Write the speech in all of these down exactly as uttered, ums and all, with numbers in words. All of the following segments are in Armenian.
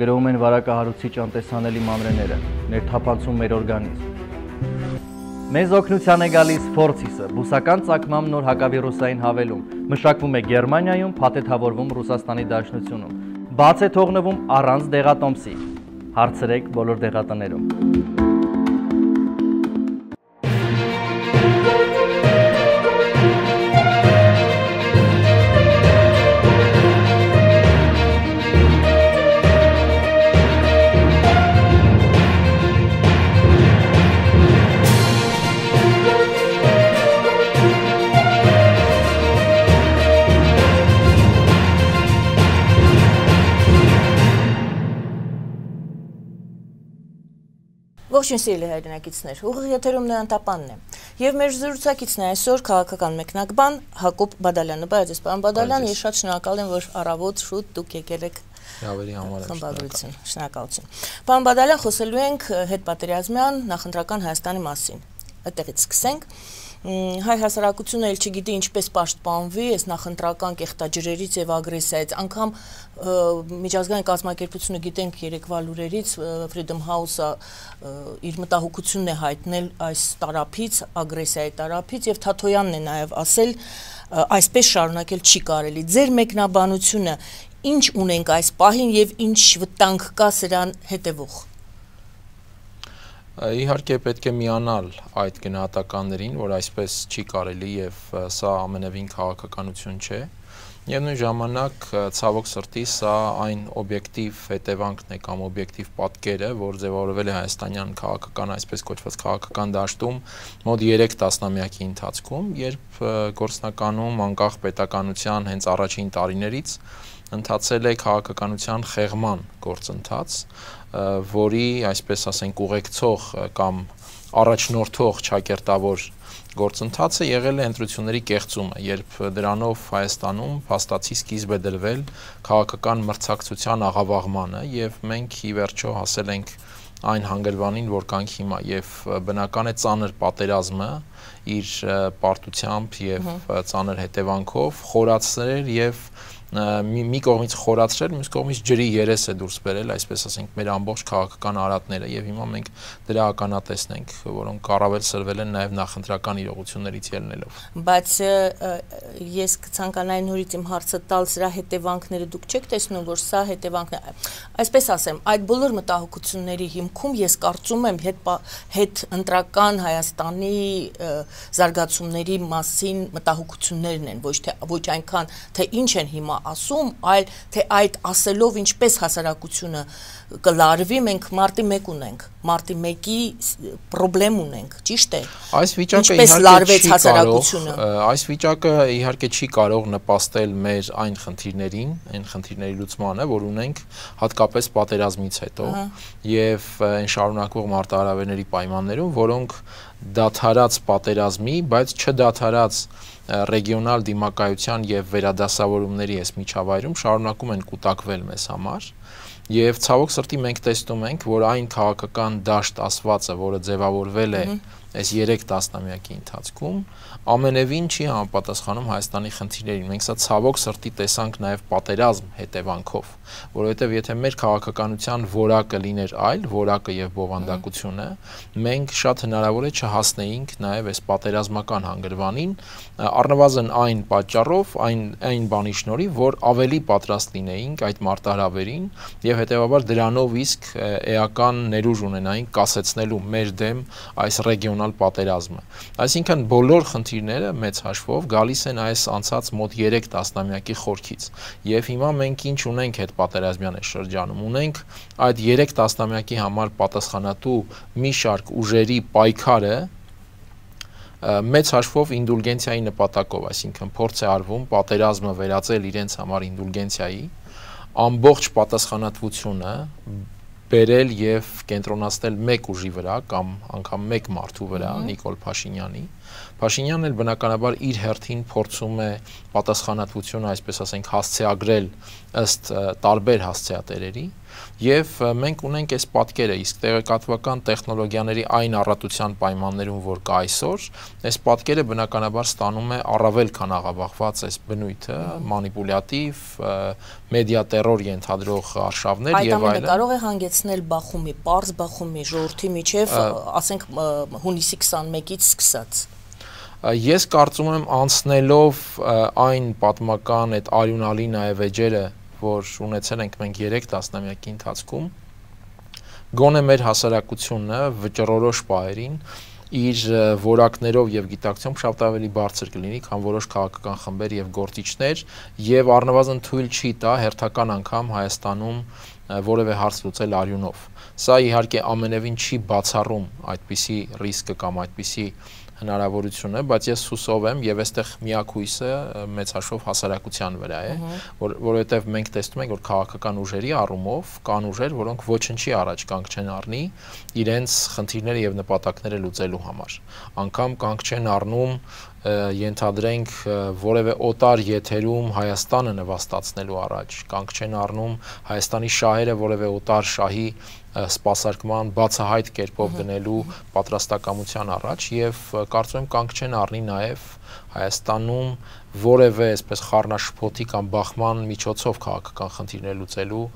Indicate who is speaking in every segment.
Speaker 1: գրոհում են վարակահարուցիչ անտեսանելի մանրեները, ներթափանցում մեր օրգանիզմ։ Մեզ օգնության է գալիս Ֆորցիսը, բուսական ծագմամբ նոր հակավիրուսային հավելում, մշակվում է Գերմանիայում, փաթեթավորվում Ռուսաստանի Դաշնությունում, բաց է թողնվում առանց դեղատոմսի։ Հարցրեք բոլոր դեղատներում։
Speaker 2: Ողջույն սիրելի հայրենակիցներ, ուղիղ եթերում Նոյան Տապանն է։ Եվ մեր զրուցակիցն է այսօր քաղաքական մեկնաբան Հակոբ Բադալյանը։ Բայց պարոն Բադալյան, ես շատ շնորհակալ եմ, որ առավոտ շուտ դուք եկել եք խմբագրություն։ Շնորհակալություն։ Պարոն Բադալյան, խոսելու ենք հետպատերազմյան նախընտրական Հայաստանի մասին։ Այդտեղից սկսենք։ Հայ հասարակությունը էլ չգիտի ինչպես պաշտպանվի այս նախընտրական կեղտաջրերից եւ ագրեսիայից, անգամ միջազգային կազմակերպությունը գիտենք երեկվա լուրերից Freedom House-ը իր մտահոգությունն է հայտնել այս տարափից, ագրեսիայի տարափից եւ Թաթոյանն է նաեւ ասել այսպես շարունակել չի կարելի։ Ձեր մեկնաբանությունը ինչ ունենք այս պահին եւ ինչ վտանգ կա սրան հետեւող։
Speaker 3: Իհարկե պետք է միանալ այդ գնահատականներին, որ այսպես չի կարելի եւ սա ամենևին քաղաքականություն չէ։ Եվ նույն ժամանակ ցավոք սրտի սա այն օբյեկտիվ հետևանքն է կամ օբյեկտիվ պատկերը, որ ձևավորվել է հայաստանյան քաղաքական, այսպես կոչված քաղաքական դաշտում մոտ երեք տասնամյակի ընթացքում, երբ գործնականում անկախ պետականության հենց առաջին տարիներից ընթացել է քաղաքականության խեղման գործընթաց, որի, այսպես ասենք, ուղեկցող կամ առաջնորդող ճակերտավոր գործընթացը եղել է ընտրությունների կեղծումը, երբ դրանով Հայաստանում փաստացի սկիզբ է դրվել քաղաքական մրցակցության աղավաղմանը եւ մենք ի վերջո հասել ենք այն հանգրվանին, որ կանք հիմա եւ բնական է ծանր պատերազմը իր պարտությամբ եւ ծանր հետևանքով խորացրել եւ մի կողմից խորացրել, մյուս կողմից ջրի երես է դուրս բերել, այսպես ասենք, մեր ամբողջ քաղաքական արատները եւ հիմա մենք դրա ականատեսն ենք, որոնք առավել սրվել են նաեւ նախընտրական իրողություններից ելնելով։
Speaker 2: Բայց ես կցանկանայի նորից իմ հարցը տալ, սրա հետևանքները դուք չեք տեսնում, որ սա հետևանքն է, այսպես ասեմ, այդ բոլոր մտահոգությունների հիմքում ես կարծում եմ հետ հետ ընտրական Հայաստանի զարգացումների մասին մտահոգություններն են, ոչ թե ոչ այնքան թե ինչ են հիմա ասում, այլ թե այդ ասելով ինչպես հասարակությունը կլարվի, մենք մարտի մեկ ունենք, մարտի մեկի պրոբլեմ ունենք, ճիշտ է։
Speaker 3: Այս վիճակը իհարկե չի կարող, այս վիճակը իհարկե չի կարող նպաստել մեր այն խնդիրներին, այն խնդիրների լուծմանը, որ ունենք հատկապես պատերազմից հետո եւ այն շարունակվող մարտահրավերների պայմաններում, որոնք դադարած պատերազմի, բայց չդադարած ռեգիոնալ դիմակայության եւ վերադասավորումների այս միջավայրում շարունակում են կուտակվել մեզ համար եւ ցավոք սրտի մենք տեսնում ենք, որ այն քաղաքական դաշտ ասվածը, որը ձևավորվել է այս երեք տասնամյակի ընթացքում, ամենևին չի համապատասխանում Հայաստանի խնդիրներին։ Մենք սա ցավոք սրտի տեսանք նաեւ պատերազմ հետևանքով, որովհետեւ եթե մեր քաղաքականության որակը լիներ այլ, որակը եւ բովանդակությունը, մենք շատ հնարավոր է չհասնեինք նաեւ այս պատերազմական հանգրվանին, առնվազն այն պատճառով, այն այն բանի շնորհիվ, որ ավելի պատրաստ լինեինք այդ մարտահրավերին եւ հետեւաբար դրանով իսկ էական ներուժ ունենայինք կասեցնելու մեր դեմ այս ռեգիոնալ պատերազմը։ Այսինքն բոլոր խնդիրները մեծ հաշվով գալիս են այս անցած մոտ երեք տասնամյակի խորքից։ Եվ հիմա մենք ինչ ունենք այդ պատերազմյան շրջանում։ Ունենք այդ երեք տասնամյակի համար պատասխանատու մի շարք ուժերի պայքարը մեծ հաշվով ինդուլգենցիայի նպատակով, այսինքն փորձ է արվում պատերազմը վերածել իրենց համար ինդուլգենցիայի, ամբողջ պատասխանատվությունը բերել եւ կենտրոնացնել մեկ ուժի վրա կամ անգամ մեկ մարդու վրա, Նիկոլ Փաշինյանի։ Փաշինյանն էլ բնականաբար իր հերթին փորձում է պատասխանատվությունը, այսպես ասենք, հասցեագրել ըստ տարբեր հասցեատերերի Եվ մենք ունենք այս պատկերը, իսկ տեղեկատվական տեխնոլոգիաների այն առատության պայմաններում, որ կա այսօր, այս պատկերը բնականաբար ստանում է առավել քան աղավաղված այս բնույթը, մանիպուլյատիվ, մեդիա տերոր ենթադրող արշավներ
Speaker 2: եւ այլն։ Այդ ամենը կարող է հանգեցնել բախումի, պարզ բախումի, ժողովրդի միջև, ասենք հունիսի քսանմեկից սկսած։
Speaker 3: Ես կարծում եմ անցնելով այն պատմական այդ արյունալի նաև էջերը, որ ունեցել ենք մենք երեք տասնամյակի ընթացքում, գոնե մեր հասարակությունը վճռորոշ պահերին իր որակներով եւ գիտակցությամբ շատ ավելի բարձր կլինի, քան որոշ քաղաքական խմբեր եւ գործիչներ, եւ առնվազն թույլ չի տա հերթական անգամ Հայաստանում որևէ հարց լուծել արյունով։ Սա իհարկե ամենևին չի բացառում այդպիսի ռիսկը կամ այդպիսի հնարավորություն է, բայց ես հուսով եմ եւ այստեղ միակ հույսը մեծ հաշվով հասարակության վրա է, որ որովհետեւ մենք տեսնում ենք, որ քաղաքական ուժերի առումով կան ուժեր, որոնք ոչնչի առաջ կանգ չեն առնի իրենց խնդիրները եւ նպատակները լուծելու համար։ Անկամ կանգ չեն առնում ենթադրենք որևէ օտար եթերում Հայաստանը նվաստացնելու առաջ, կանգ չեն առնում Հայաստանի շահերը որևէ օտար շահի սպասարկման բացահայտ կերպով գնելու պատրաստակամության առաջ եւ կարծում եմ կանգ չեն առնի նաեւ Հայաստանում որևէ այսպես խառնաշփոթի կամ բախման միջոցով քաղաքական խնդիրներ լուծելու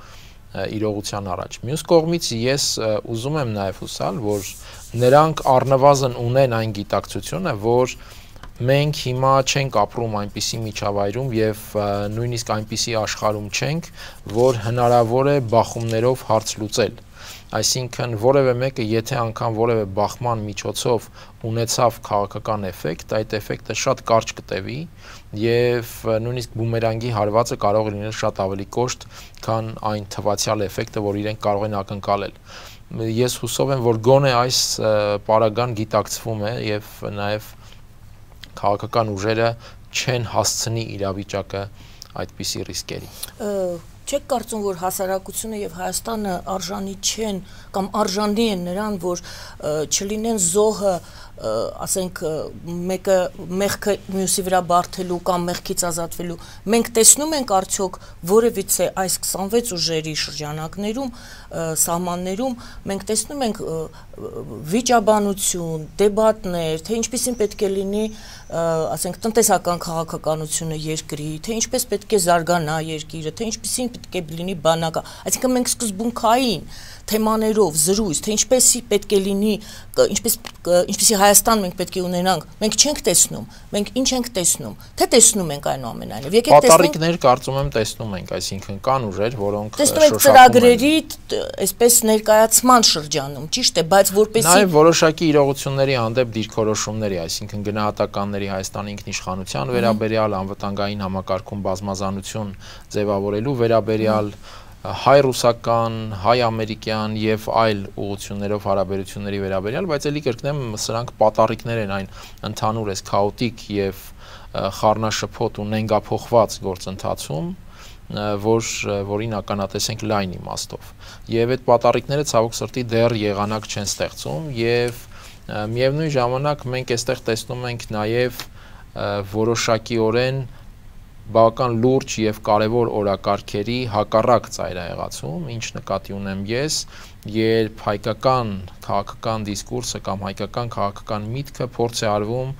Speaker 3: իրողության առաջ։ Մյուս կողմից ես ուզում եմ նաեւ հուսալ, որ նրանք առնվազն ունեն այն գիտակցությունը, որ մենք հիմա չենք ապրում այնպիսի միջավայրում եւ նույնիսկ այնպիսի աշխարհում չենք, որ հնարավոր է բախումներով հարց լուծել։ Այսինքն որևէ մեկը եթե անգամ որևէ բախման միջոցով ունեցավ քաղաքական էֆեկտ, այդ էֆեկտը շատ կարճ կտևի եւ նույնիսկ բումերանգի հարվածը կարող է լինել շատ ավելի կոշտ, քան այն թվացial էֆեկտը, որ իրենք կարող են ակնկալել։ Ես հուսով եմ, որ գոնե այս պարագան գիտակցվում է եւ նաեւ քաղաքական ուժերը չեն հասցնի իրավիճակը այդպիսի ռիսկերի։
Speaker 2: Չեք կարծում, որ հասարակությունը եւ Հայաստանը արժանի չեն կամ արժանի են նրան, որ չլինեն զոհը, ասենք մեկը մեղքը մյուսի վրա բարթելու կամ մեղքից ազատվելու։ Մենք տեսնում ենք արդյոք որևիցե այս քսանվեց ուժերի շրջանակներում, սահմաններում մենք տեսնում ենք վիճաբանություն, դեբատներ, թե ինչպեսին պետք է լինի, ասենք տնտեսական քաղաքականությունը երկրի, թե ինչպես պետք է զարգանա երկիրը, թե ինչպեսին պետք է լինի բանակը։ Այսինքն մենք սկզբունքային թեմաներով զրույց, թե ինչպեսի պետք է լինի, ինչպես ինչպեսի Հայաստան մենք պետք է ունենանք, մենք չենք տեսնում, մենք ինչ ենք տեսնում, թե տեսնում ենք այնուամենայնիվ։ Եկեք տեսնենք։
Speaker 3: Պատառիկներ կարծում եմ տեսնում ենք, այսինքն կան ուժեր, որոնք
Speaker 2: տեսնում ենք ծրագրերի, այսպես ներկայացման շրջանում, ճիշտ է, բայց որպեսի
Speaker 3: Նաև որոշակի իրողությունների հանդեպ դիրքորոշումների, այսինքն գնահատականների Հայաստանի ինքնիշխանության վերաբերյալ, անվտանգային համակարգում բազմազանություն ձևավորելու վերաբերյալ, հայ-ռուսական, հայ-ամերիկյան եւ այլ ուղղություններով հարաբերությունների վերաբերյալ, բայց ելի կրկնեմ, սրանք պատառիկներ են այն ընդհանուր էս քաոտիկ եւ խառնաշփոթ ու նենգափոխված գործընթացում, որ որին ականատեսենք լայն իմաստով։ Եվ այդ պատառիկները ցավոք սրտի դեռ եղանակ չեն ստեղծում եւ միևնույն ժամանակ մենք այստեղ տեսնում ենք նաեւ որոշակիորեն բավական լուրջ եւ կարեւոր օրակարգերի հակառակ ծայրահեղացում, ինչ նկատի ունեմ ես, երբ հայկական քաղաքական դիսկուրսը կամ հայկական քաղաքական միտքը փորձ է արվում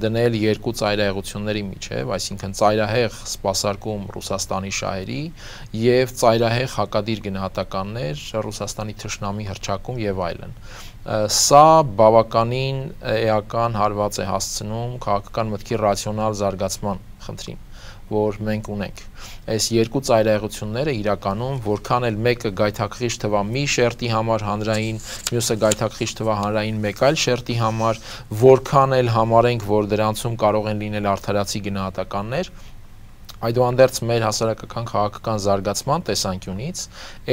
Speaker 3: դնել երկու ծայրահեղությունների միջև, այսինքն ծայրահեղ սպասարկում Ռուսաստանի շահերի եւ ծայրահեղ հակադիր գնահատականներ Ռուսաստանի թշնամի հռչակում եւ այլն։ Սա բավականին էական հարված է հասցնում քաղաքական մտքի ռացիոնալ զարգացման խնդրին, որ մենք ունենք։ Այս երկու ծայրահեղությունները իրականում որքան էլ մեկը գայթակղիչ թվա մի շերտի համար հանրային, մյուսը գայթակղիչ թվա հանրային մեկ այլ շերտի համար, որքան էլ համարենք, որ դրանցում կարող են լինել արդարացի գնահատականներ, այդուհանդերձ մեր հասարակական քաղաքական զարգացման տեսանկյունից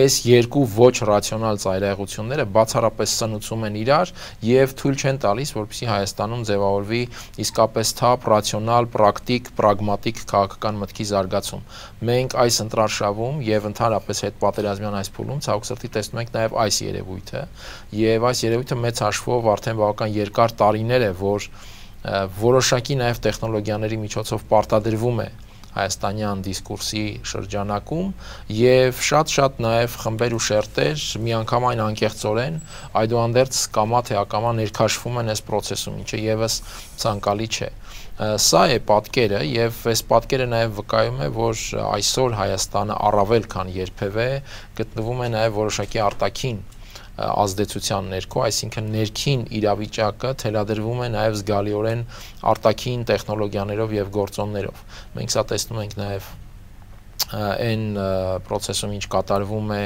Speaker 3: այս երկու ոչ ռացիոնալ ծայրահեղությունները բացառապես սնուցում են իրար եւ թույլ չեն տալիս, որպեսզի Հայաստանում ձևավորվի իսկապես թափ, ռացիոնալ, պրակտիկ, պրագմատիկ քաղաքական մտքի զարգացում։ Մենք այս ընտրարշավում եւ ընդհանրապես հետպատերազմյան այս փուլում ցավոք սրտի տեսնում ենք նաեւ այս երևույթը եւ այս երևույթը մեծ հաշվով արդեն բավական երկար տարիներ է, որ որոշակի նաեւ տեխնոլոգիաների միջոցով պարտադրվում է հայաստանյան դիսկուրսի շրջանակում եւ շատ-շատ նաեւ խմբեր ու շերտեր միանգամայն անկեղծորեն այդուհանդերձ կամա թե ակամա ներքաշվում են այս process-ում, ինչը եւս ցանկալի չէ։ Սա է պատկերը եւ այս պատկերը նաեւ վկայում է, որ այսօր Հայաստանը առավել քան երբևէ գտնվում է նաեւ որոշակի արտաքին ազդեցության ներքո, այսինքն ներքին իրավիճակը թելադրվում է նաեւ զգալիորեն արտաքին տեխնոլոգիաներով եւ գործոններով։ Մենք սա տեսնում ենք նաեւ այն process-ում ինչ կատարվում է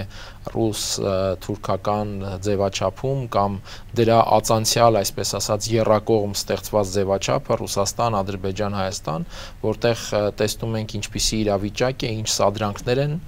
Speaker 3: ռուս-թուրքական ձևաչափում կամ դրա ածանցյալ, այսպես ասած, եռակողմ ստեղծված ձևաչափը Ռուսաստան, Ադրբեջան, Հայաստան, որտեղ տեսնում ենք ինչպիսի իրավիճակ է, ինչ սադրանքներ են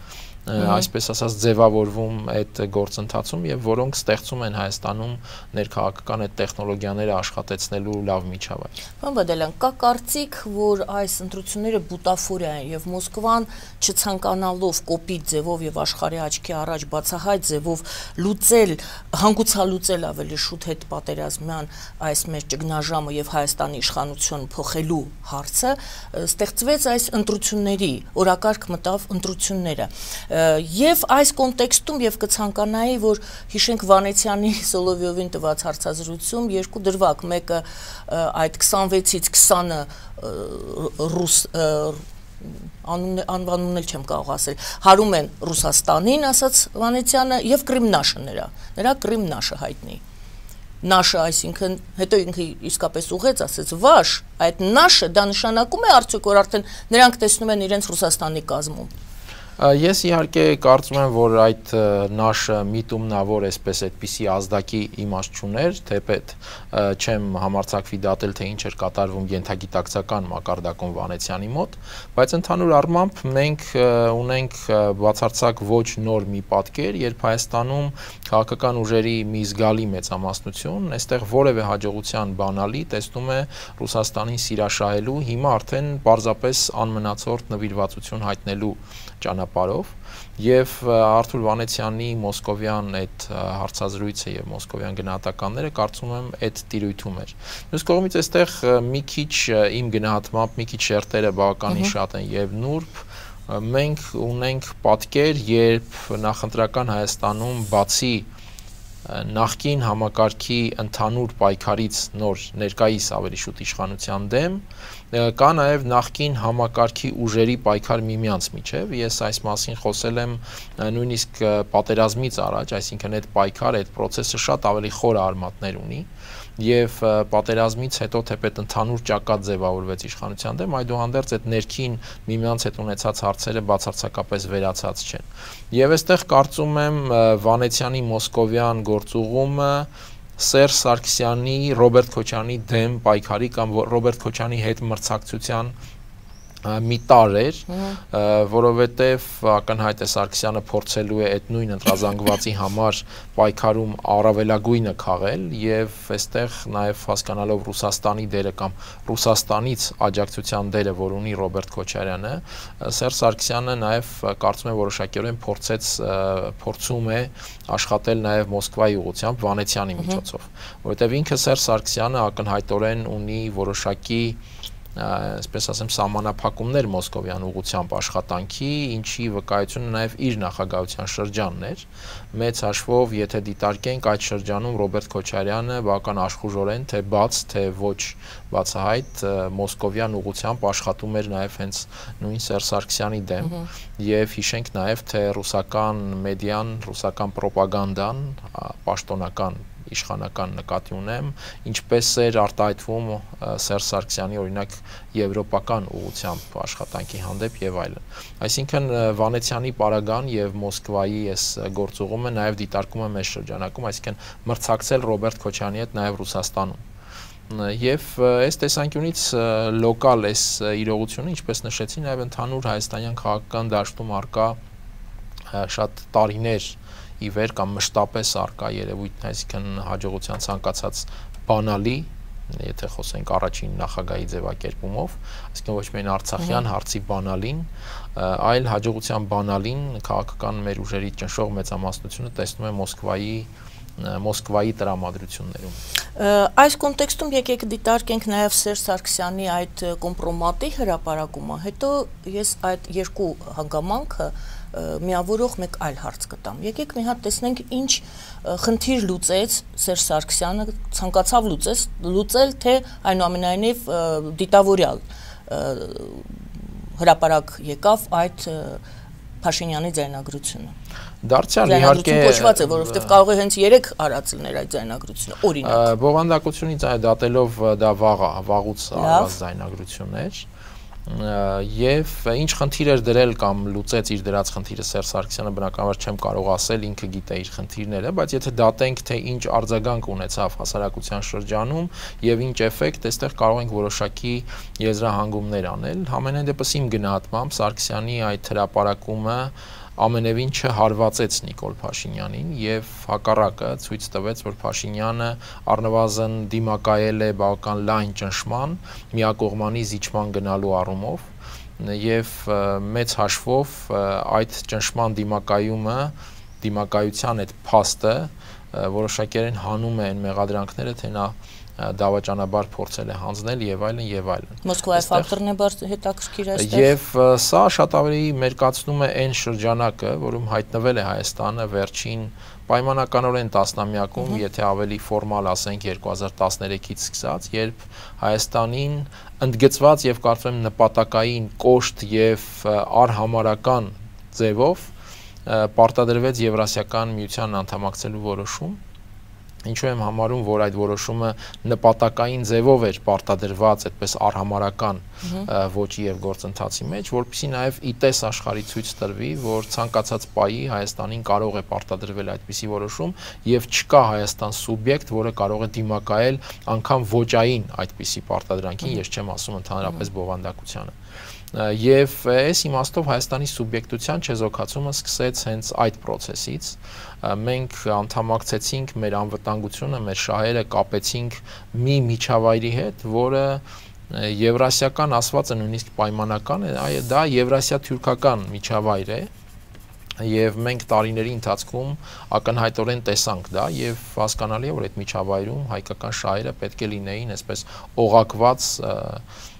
Speaker 3: այսպես ասած ձևավորվում այդ գործընթացում եւ որոնք ստեղծում են Հայաստանում ներքաղաքական այդ տեխնոլոգիաները աշխատեցնելու լավ միջավայր։
Speaker 2: Պարոն Բադալյան, կա կարծիք, որ այս ընտրությունները բուտաֆորիա են եւ Մոսկվան չցանկանալով կոպիտ ձևով եւ աշխարհի աչքի առաջ բացահայտ ձևով լուծել, հանգուցալուծել ավելի շուտ հետ պատերազմյան այս մեր ճգնաժամը եւ Հայաստանի իշխանություն փոխելու հարցը, ստեղծվեց այս ընտրությունների, օրակարգ մտավ ընտրությունները։ Եվ այս կոնտեքստում եւ կցանկանայի, որ հիշենք Վանեցյանի Սոլովյովին տված հարցազրույցում երկու դրվագ, մեկը այդ քսանվեցից քսանը ռուս անվանումն էլ չեմ կարող ասել, հարում են Ռուսաստանին, ասաց Վանեցյանը, եւ Կրիմնաշը նրա, նրա Կրիմնաշը հայտնի։ Նաշը, այսինքն, հետո ինքը իսկապես ուղեց, ասեց, վաշ, այդ նաշը դա նշանակում է արդյոք, որ արդեն նրանք տեսնում են իրենց Ռուսաստանի կազմում։
Speaker 3: Ես իհարկե կարծում եմ, որ այդ նաշը միտումնավոր այսպես այդպիսի ազդակի իմաստ չուներ, թեպետ չեմ համարձակվի դատել, թե ինչ էր կատարվում ենթագիտակցական մակարդակում Վանեցյանի մոտ, բայց ընդհանուր առմամբ մենք ունենք բացարձակ ոչ նոր մի պատկեր, երբ Հայաստանում քաղաքական ուժերի մի զգալի մեծամասնություն այստեղ որևէ հաջողության բանալի տեսնում է Ռուսաստանին սիրաշահելու, հիմա արդեն պարզապես անմնացորդ նվիրվածություն հայտնելու ճանապարհով եւ Արթուր Վանեցյանի մոսկովյան այդ հարցազրույցը եւ մոսկովյան գնահատականները կարծում եմ այդ տիրույթում էր։ Մյուս կողմից այստեղ մի քիչ իմ գնահատմամբ մի քիչ շերտերը բավականին շատ են եւ նուրբ մենք ունենք պատկեր, երբ նախընտրական Հայաստանում բացի նախկին համակարգի ընդհանուր պայքարից նոր ներկայիս ավելի շուտ իշխանության դեմ կա նաև նախկին համակարգի ուժերի պայքար միմյանց միջև, ես այս մասին խոսել եմ նույնիսկ պատերազմից առաջ, այսինքն այդ պայքարը, այդ process-ը շատ ավելի խոր արմատներ ունի եւ պատերազմից հետո թեպետ ընդհանուր ճակատ ձևավորվեց իշխանության դեմ, այդուհանդերձ այդ ներքին միմյանց հետ ունեցած հարցերը բացարձակապես վերացած չեն։ Եվ այստեղ կարծում եմ Վանեցյանի մոսկովյան գործուղումը Սերժ Սարգսյանի, Ռոբերտ Քոչարյանի դեմ պայքարի կամ Ռոբերտ Քոչարյանի հետ մրցակցության մի տար էր, որովհետև ակնհայտ է Սարգսյանը փորձելու է այդ նույն ընտրազանգվածի համար պայքարում առավելագույնը քաղել եւ այստեղ նաեւ հասկանալով Ռուսաստանի դերը կամ Ռուսաստանից աջակցության դերը, որ ունի Ռոբերտ Քոչարյանը, Սերժ Սարգսյանը նաեւ կարծում եմ որոշակիորեն փորձեց փորձում է աշխատել նաեւ Մոսկվայի ուղղությամբ Վանեցյանի միջոցով, որովհետև ինքը Սերժ Սարգսյանը ակնհայտորեն ունի որոշակի այսպես ասեմ սահմանափակումներ մոսկովյան ուղղությամբ աշխատանքի, ինչի վկայությունը նաև իր նախագահության շրջանն էր, մեծ հաշվով, եթե դիտարկենք այդ շրջանում Ռոբերտ Քոչարյանը բավական աշխուժորեն, թե բաց, թե ոչ բացահայտ մոսկովյան ուղղությամբ աշխատում էր նաև հենց նույն Սերժ Սարգսյանի դեմ եւ հիշենք նաև, թե ռուսական մեդիան, ռուսական պրոպագանդան, պաշտոնական իշխանական նկատի ունեմ, ինչպես էր արտահայտվում Սերժ Սարգսյանի օրինակ եվրոպական ուղղությամբ աշխատանքի հանդեպ եւ այլն։ Այսինքն Վանեցյանի պարագան եւ Մոսկվայի այս գործուղումը նաեւ դիտարկում եմ այս շրջանակում, այսինքն մրցակցել Ռոբերտ Քոչարյանի հետ նաեւ Ռուսաստանում։ Եվ այս տեսանկյունից լոկալ այս իրողությունը, ինչպես նշեցի, նաեւ ընդհանուր հայաստանյան քաղաքական դաշտում արկա շատ տարիներ ի վեր կամ մշտապես արկա երևույթն, այսինքն հաջողության ցանկացած բանալի, եթե խոսենք առաջին նախագահի ձևակերպումով, այսինքն ոչ միայն արցախյան հարցի բանալին, այլ հաջողության բանալին քաղաքական մեր ուժերի ճնշող մեծամասնությունը տեսնում է Մոսկվայի Մոսկվայի տրամադրություններում։
Speaker 2: Այս կոնտեքստում եկեք դիտարկենք նաև Սերժ Սարգսյանի այդ կոմպրոմատի հրապարակումը, հետո ես այդ երկու հանգամանքը միավորող մեկ այլ հարց կտամ։ Եկեք մի հատ տեսնենք ինչ խնդիր լուծեց Սերժ Սարգսյանը, ցանկացավ լուծես, լուծել, թե այնուամենայնիվ դիտավորյալ հրապարակ եկավ այդ Փաշինյանի ձայնագրությունը։
Speaker 3: Դարձյալ իհարկե
Speaker 2: կոչված է, որովհետև կարող է հենց երեք արած լինել այդ ձայնագրությունը, օրինակ։
Speaker 3: Բովանդակությունից դատելով դա վաղ վաղուց արած ձայնագրություններ, եւ ինչ խնդիր էր դրել կամ լուծեց իր դրած խնդիրը Սերժ Սարգսյանը, բնականաբար չեմ կարող ասել, ինքը գիտե իր խնդիրները, բայց եթե դատենք, թե ինչ արձագանք ունեցավ հասարակության շրջանում եւ ինչ էֆեկտ, այստեղ կարող ենք որոշակի եզրահանգումներ անել։ Համենայն դեպս իմ գնահատմամբ Սարգսյանի այդ հրապարակումը ամենևին չհարվածեց Նիկոլ Փաշինյանին եւ հակառակը ցույց տվեց, որ Փաշինյանը առնվազն դիմակայել է բավական լայն ճնշման, միակողմանի զիջման գնալու առումով եւ մեծ հաշվով այդ ճնշման դիմակայումը, դիմակայության այդ փաստը որոշակիորեն հանում է այն մեղադրանքները, թե նա դավաճանաբար փորձել է հանձնել եւ այլն եւ այլն։
Speaker 2: Մոսկվայի ֆակտորն է բարձ հետաքրքիր այստեղ։
Speaker 3: Եվ սա շատ ավելի մերկացնում է այն շրջանակը, որում հայտնվել է Հայաստանը վերջին պայմանականորեն տասնամյակում, եթե ավելի ֆորմալ ասենք երկու հազար տասներեքից սկսած, երբ Հայաստանին ընդգծված եւ կարծում եմ նպատակային կոշտ եւ արհամարական ձևով պարտադրվեց Եվրասիական միության անդամակցելու որոշում։ Ինչու եմ համարում, որ այդ որոշումը նպատակային ձևով էր պարտադրված այդպես արհամարական ոճի եւ գործընթացի մեջ, որպեսզի նաեւ իտես աշխարհի ցույց տրվի, որ ցանկացած պայի Հայաստանին կարող է պարտադրվել այդպիսի որոշում եւ չկա Հայաստան սուբյեկտ, որը կարող է դիմակայել անգամ ոճային այդպիսի պարտադրանքին, ես չեմ ասում ընդհանրապես բովանդակությանը։ Եվ այս իմաստով Հայաստանի սուբյեկտության չեզոքացումը սկսեց հենց այդ process-ից։ Մենք անդամակցեցինք մեր անվտանգությունը, մեր շահերը կապեցինք մի միջավայրի հետ, որը եվրասիական ասվածը նույնիսկ պայմանական է, դա եվրասիա-թուրքական միջավայր է։ Եվ մենք տարիների ընթացքում ակնհայտորեն տեսանք դա եւ հասկանալի է, որ այդ միջավայրում հայկական շահերը պետք է լինեին այսպես օղակված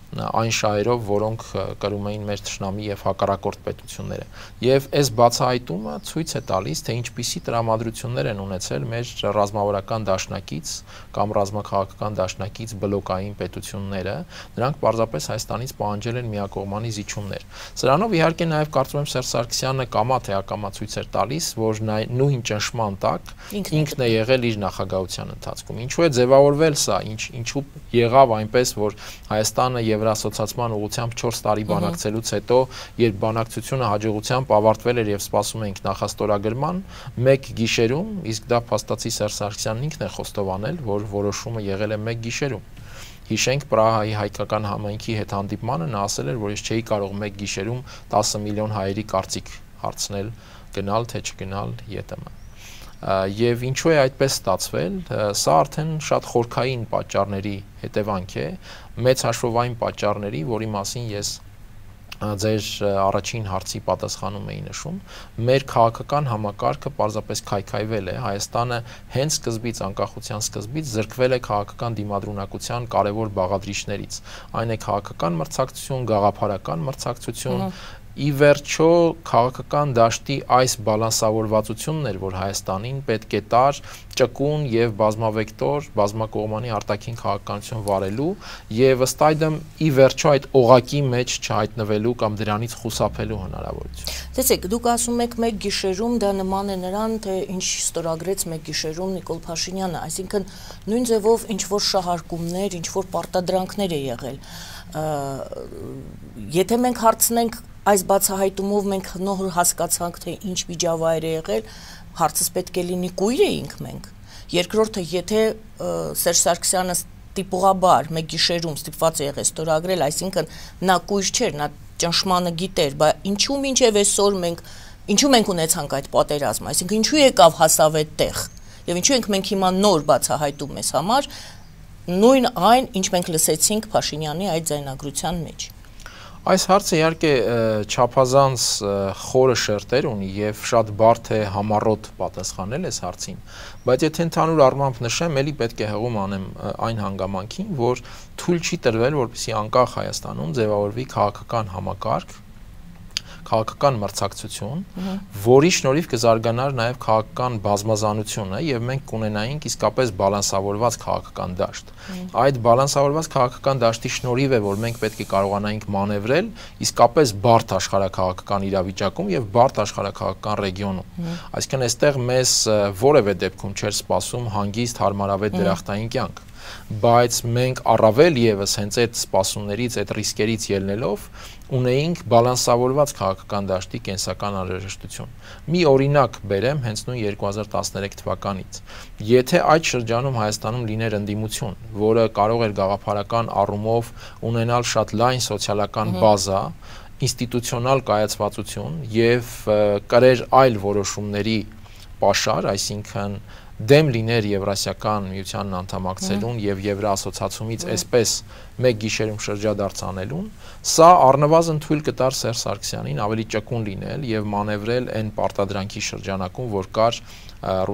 Speaker 3: այն շահերով, որոնք կրում էին մեր թշնամի եւ հակառակորդ պետությունները։ Եվ այս բացահայտումը ցույց է տալիս, թե ինչպիսի տրամադրություններ են ունեցել մեր ռազմավարական դաշնակից կամ ռազմաքաղաքական դաշնակից բլոկային պետությունները, նրանք պարզապես Հայաստանից պահանջել են միակողմանի զիջումներ։ Սրանով իհարկե նաեւ կարծում եմ Սերժ Սարգսյանը կամա թե ակամա ցույց էր տալիս, որ նույն ճնշման տակ ինքն է եղել իր նախագահության ընթացքում։ Ինչու է ձևավորվել սա, ինչ ինչու եղավ այնպես, որ Հայաստանը Եվրասոցիացման ուղղությամբ չորս տարի բանակցելուց հետո, երբ բանակցությունը հաջողությամբ ավարտվել էր եւ սպասում էինք նախաստորագրման, մեկ գիշերում, իսկ դա փաստացի Սերժ Սարգսյանն ինքն է խոստովանել, որ որոշումը եղել է մեկ գիշերում։ Հիշենք Պրահայի հայկական համայնքի հետ հանդիպմանը նա ասել էր, որ ես չէի կարող մեկ գիշերում տասը միլիոն հայերի կարծիք հարցնել, գնալ թե չգնալ ԵՏՄ։ Եվ ինչու է այդպես ստացվել, սա արդեն շատ խորքային պատճառների հետևանք է, մեծ հաշվով այն պատճառների, որի մասին ես ձեր առաջին հարցի պատասխանում էի նշում, մեր քաղաքական համակարգը պարզապես քայքայվել է, Հայաստանը հենց սկզբից, անկախության սկզբից զրկվել է քաղաքական դիմադրունակության կարևոր բաղադրիչներից, այն է քաղաքական մրցակցություն, գաղափարական մրցակցություն, ի վերջո քաղաքական դաշտի այս բալանսավորվածությունն էր, որ Հայաստանին պետք է տար ճկուն եւ բազմավեկտոր, բազմակողմանի արտաքին քաղաքականություն վարելու եւ ըստ այդմ ի վերջո այդ օղակի մեջ չհայտնվելու կամ դրանից խուսափելու հնարավորություն։
Speaker 2: Տեսեք, դուք ասում եք մեկ գիշերում դա նման է նրան, թե ինչ ստորագրեց մեկ գիշերում Նիկոլ Փաշինյանը, այսինքն նույն ձևով ինչ որ շահարկումներ, ինչ որ պարտադրանքներ է եղել։ Եթե մենք հարցնենք այս բացահայտումով մենք նոր հասկացանք, թե ինչ միջավայր է եղել, հարցս պետք է լինի կույր էինք մենք։ Երկրորդը, եթե Սերժ Սարգսյանը տիպողաբար մեկ գիշերում ստիպված է եղել ստորագրել, այսինքն նա կույր չէր, նա ճնշմանը գիտեր, բայց ինչու մինչև այսօր մենք ինչու մենք ունեցանք այդ պատերազմը, այսինքն ինչու եկավ հասավ այդտեղ, եւ ինչու ենք մենք հիմա նոր բացահայտում մեզ համար նույն այն, ինչ մենք լսեցինք Փաշինյանի այդ ձայնագրության մեջ։
Speaker 3: Այս հարցը իհարկե չափազանց խորը շերտեր ունի եւ շատ բարդ է համառոտ պատասխանել այս հարցին, բայց եթե ընդհանուր առմամբ նշեմ, ելի պետք է հղում անեմ այն հանգամանքին, որ թույլ չի տրվել, որպեսզի անկախ Հայաստանում ձևավորվի քաղաքական համակարգ, քաղաքական մրցակցություն, որի շնորհիվ կզարգանար նաև քաղաքական բազմազանությունը եւ մենք կունենայինք իսկապես բալանսավորված քաղաքական դաշտ։ Այդ բալանսավորված քաղաքական դաշտի շնորհիվ է, որ մենք պետք է կարողանայինք մանևրել իսկապես բարդ աշխարհակաղակական իրավիճակում եւ բարդ աշխարհակաղակական ռեգիոնում։ Այսինքն այստեղ մեզ որևէ դեպքում չէր սպասում հանգիստ հարմարավետ դրախտային կյանք, բայց մենք առավել եւս հենց այդ սպասումներից, այդ ռիսկերից ելնելով ունեինք բալանսավորված քաղաքական դաշտի կենսական անհրաժեշտություն։ Մի օրինակ բերեմ հենց նույն երկու հազար տասներեք թվականից։ Եթե այդ շրջանում Հայաստանում լիներ ընդդիմություն, որը կարող էր գաղափարական առումով ունենալ շատ լայն սոցիալական բազա, ինստիտուցիոնալ կայացվածություն եւ կրեր այլ որոշումների պաշար, այսինքն դեմ լիներ Եվրասիական միությանն անդամակցելուն եւ Եվրաասոցիացումից այսպես մեկ գիշերում շրջադարձ անելուն, սա առնվազն թույլ կտար Սերժ Սարգսյանին ավելի ճկուն լինել եւ մանևրել այն պարտադրանքի շրջանակում, որ կար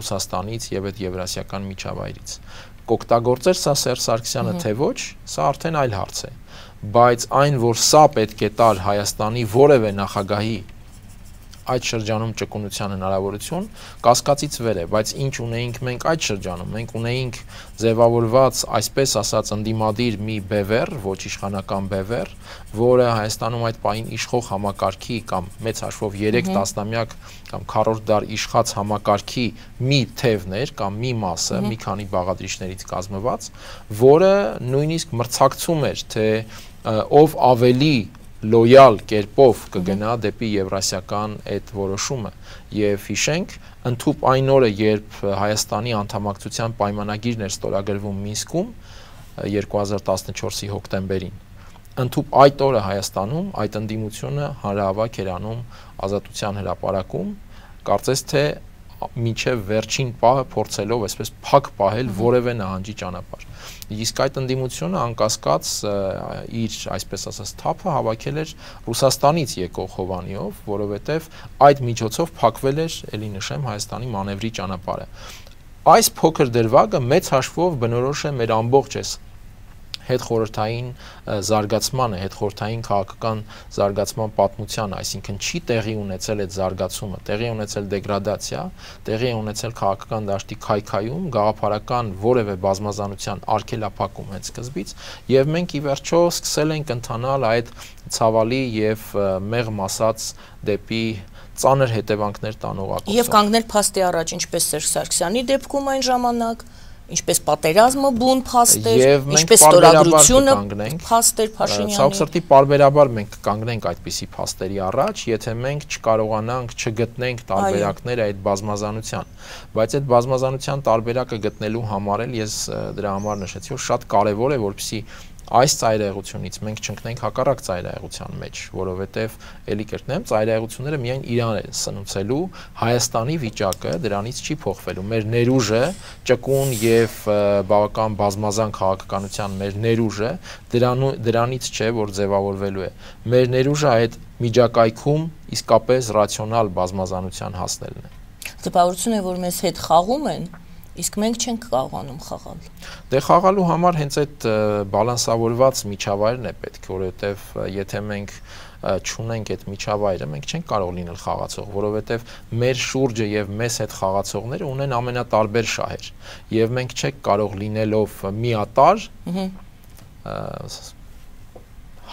Speaker 3: Ռուսաստանից եւ այդ Եվրասիական միջավայրից։ Կօգտագործեր սա Սերժ Սարգսյանը թե ոչ, սա արդեն այլ հարց է, բայց այն, որ սա պետք է տար Հայաստանի որևէ նախագահի այդ շրջանում ճկունության հնարավորություն կասկածից վեր է, բայց ինչ ունեինք մենք այդ շրջանում, մենք ունեինք ձևավորված, այսպես ասած, ընդդիմադիր մի բևեռ, ոչ իշխանական բևեռ, որը Հայաստանում այդ պահին իշխող համակարգի կամ մեծ հաշվով երեք տասնամյակ կամ քառորդ դար իշխած համակարգի մի թևներ կամ մի մասը, մի քանի բաղադրիչներից կազմված, որը նույնիսկ մրցակցում էր, թե ով ավելի լոյալ կերպով կգնա դեպի եվրասիական այդ որոշումը եւ հիշենք ընդհուպ այն օրը երբ Հայաստանի անդամակցության պայմանագիրն էր ստորագրվում Մինսկում երկու հազար տասնչորսի հոկտեմբերին ընդհուպ այդ օրը Հայաստանում այդ ընդդիմությունը հանրահավաք էր անում Ազատության հրապարակում կարծես թե մինչև վերջին պահը փորձելով այսպես փակ պահել որևէ նահանջի ճանապարհ։ Իսկ այդ ընդդիմությունը անկասկած իր այսպես ասած թափը հավաքել էր Ռուսաստանից եկող Հովանիով, որովհետև այդ միջոցով փակվել էր, ելի նշեմ, Հայաստանի մանևրի ճանապարհը։ Այս փոքր դրվագը մեծ հաշվով բնորոշ է մեր ամբողջ այս հետխորհրդային զարգացմանը, հետխորհրդային քաղաքական զարգացման պատմությանը, այսինքն չի տեղի ունեցել այդ զարգացումը, տեղի ունեցել դեգրադացիա, տեղի ունեցել քաղաքական դաշտի քայքայում, գաղափարական որևէ բազմազանության արգելափակում հենց սկզբից, եւ մենք ի վերջո սկսել ենք ընթանալ այդ ցավալի եւ մեղմ ասած դեպի ծանր հետևանքներ տանող ակուսով։
Speaker 2: Եվ կանգնել փաստի առաջ, ինչպես Սերժ Սարգսյանի դեպքում այն ժամանակ, ինչպես պատերազմը բուն փաստեր, ինչպես ստորագրությունը փաստեր Փաշինյանի։
Speaker 3: Ցավոք սրտի պարբերաբար մենք կանգնենք այդպիսի փաստերի առաջ, եթե մենք չկարողանանք չգտնենք տարբերակները այդ բազմազանության, բայց այդ բազմազանության տարբերակը գտնելու համար էլ ես դրա համար նշեցի, որ շատ կարևոր է, որպեսզի այս ծայրահեղությունից մենք չընկնենք հակառակ ծայրահեղության մեջ, որովհետև ելի կրկնեմ, ծայրահեղությունները միայն Իրան են սնուցելու, Հայաստանի վիճակը դրանից չի փոխվելու։ Մեր ներուժը, ճկուն եւ բավական բազմազան քաղաքականության մեր ներուժը դրանից չէ, որ ձևավորվելու է։ Մեր ներուժը այդ միջակայքում իսկապես ռացիոնալ բազմազանության հասնելն է։
Speaker 2: Տպավորություն է, որ մեզ հետ խաղում են, իսկ մենք չենք կարողանում խաղալ։
Speaker 3: Դե խաղալու համար հենց այդ բալանսավորված միջավայրն է պետք, որովհետև եթե մենք չունենք այդ միջավայրը, մենք չենք կարող լինել խաղացող, որովհետև մեր շուրջը եւ մեզ հետ խաղացողները ունեն ամենատարբեր շահեր, եւ մենք չենք կարող լինելով միատար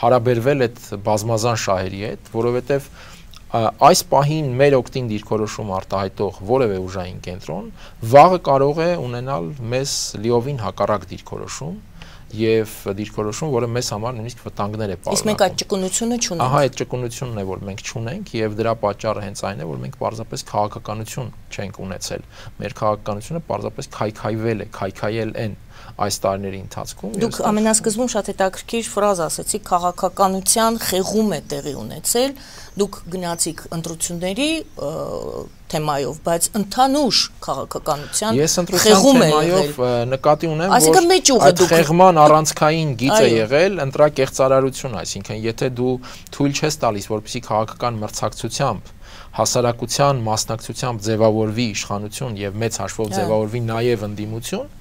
Speaker 3: հարաբերվել այդ բազմազան շահերի հետ, որովհետև այս պահին մեր օգտին դիրքորոշում արտահայտող որևէ ուժային կենտրոն վաղը կարող է ունենալ մեզ լիովին հակառակ դիրքորոշում եւ դիրքորոշում, որը մեզ համար նույնիսկ վտանգներ է պարունակում։
Speaker 2: Իսկ մենք այդ ճկունությունը չունենք։
Speaker 3: Ահա այդ ճկունությունն է, որ մենք չունենք եւ դրա պատճառը հենց այն է, որ մենք պարզապես քաղաքականություն չենք ունեցել։ Մեր քաղաքականությունը պարզապես քայքայվել է, քայքայել են այս տարիների ընթացքում։
Speaker 2: Դուք ամենասկզբում շատ հետաքրքիր ֆրազ ասեցիք, քաղաքականության խեղում է տեղի ունեցել, դուք գնացիք ընտրությունների թեմայով, բայց ընդհանուր քաղաքականության խեղում է եղել։
Speaker 3: Ես ընտրության թեմայով նկատի ունեմ, որ այդ խեղման առանցքային գիծը եղել ընտրակեղծարարություն, այսինքն եթե դու թույլ չես տալիս, որպեսզի քաղաքական մրցակցությամբ հասարակության մասնակցությամբ ձևավորվի իշխանություն եւ մեծ հաշվով ձևավորվի նաեւ ընդդիմություն,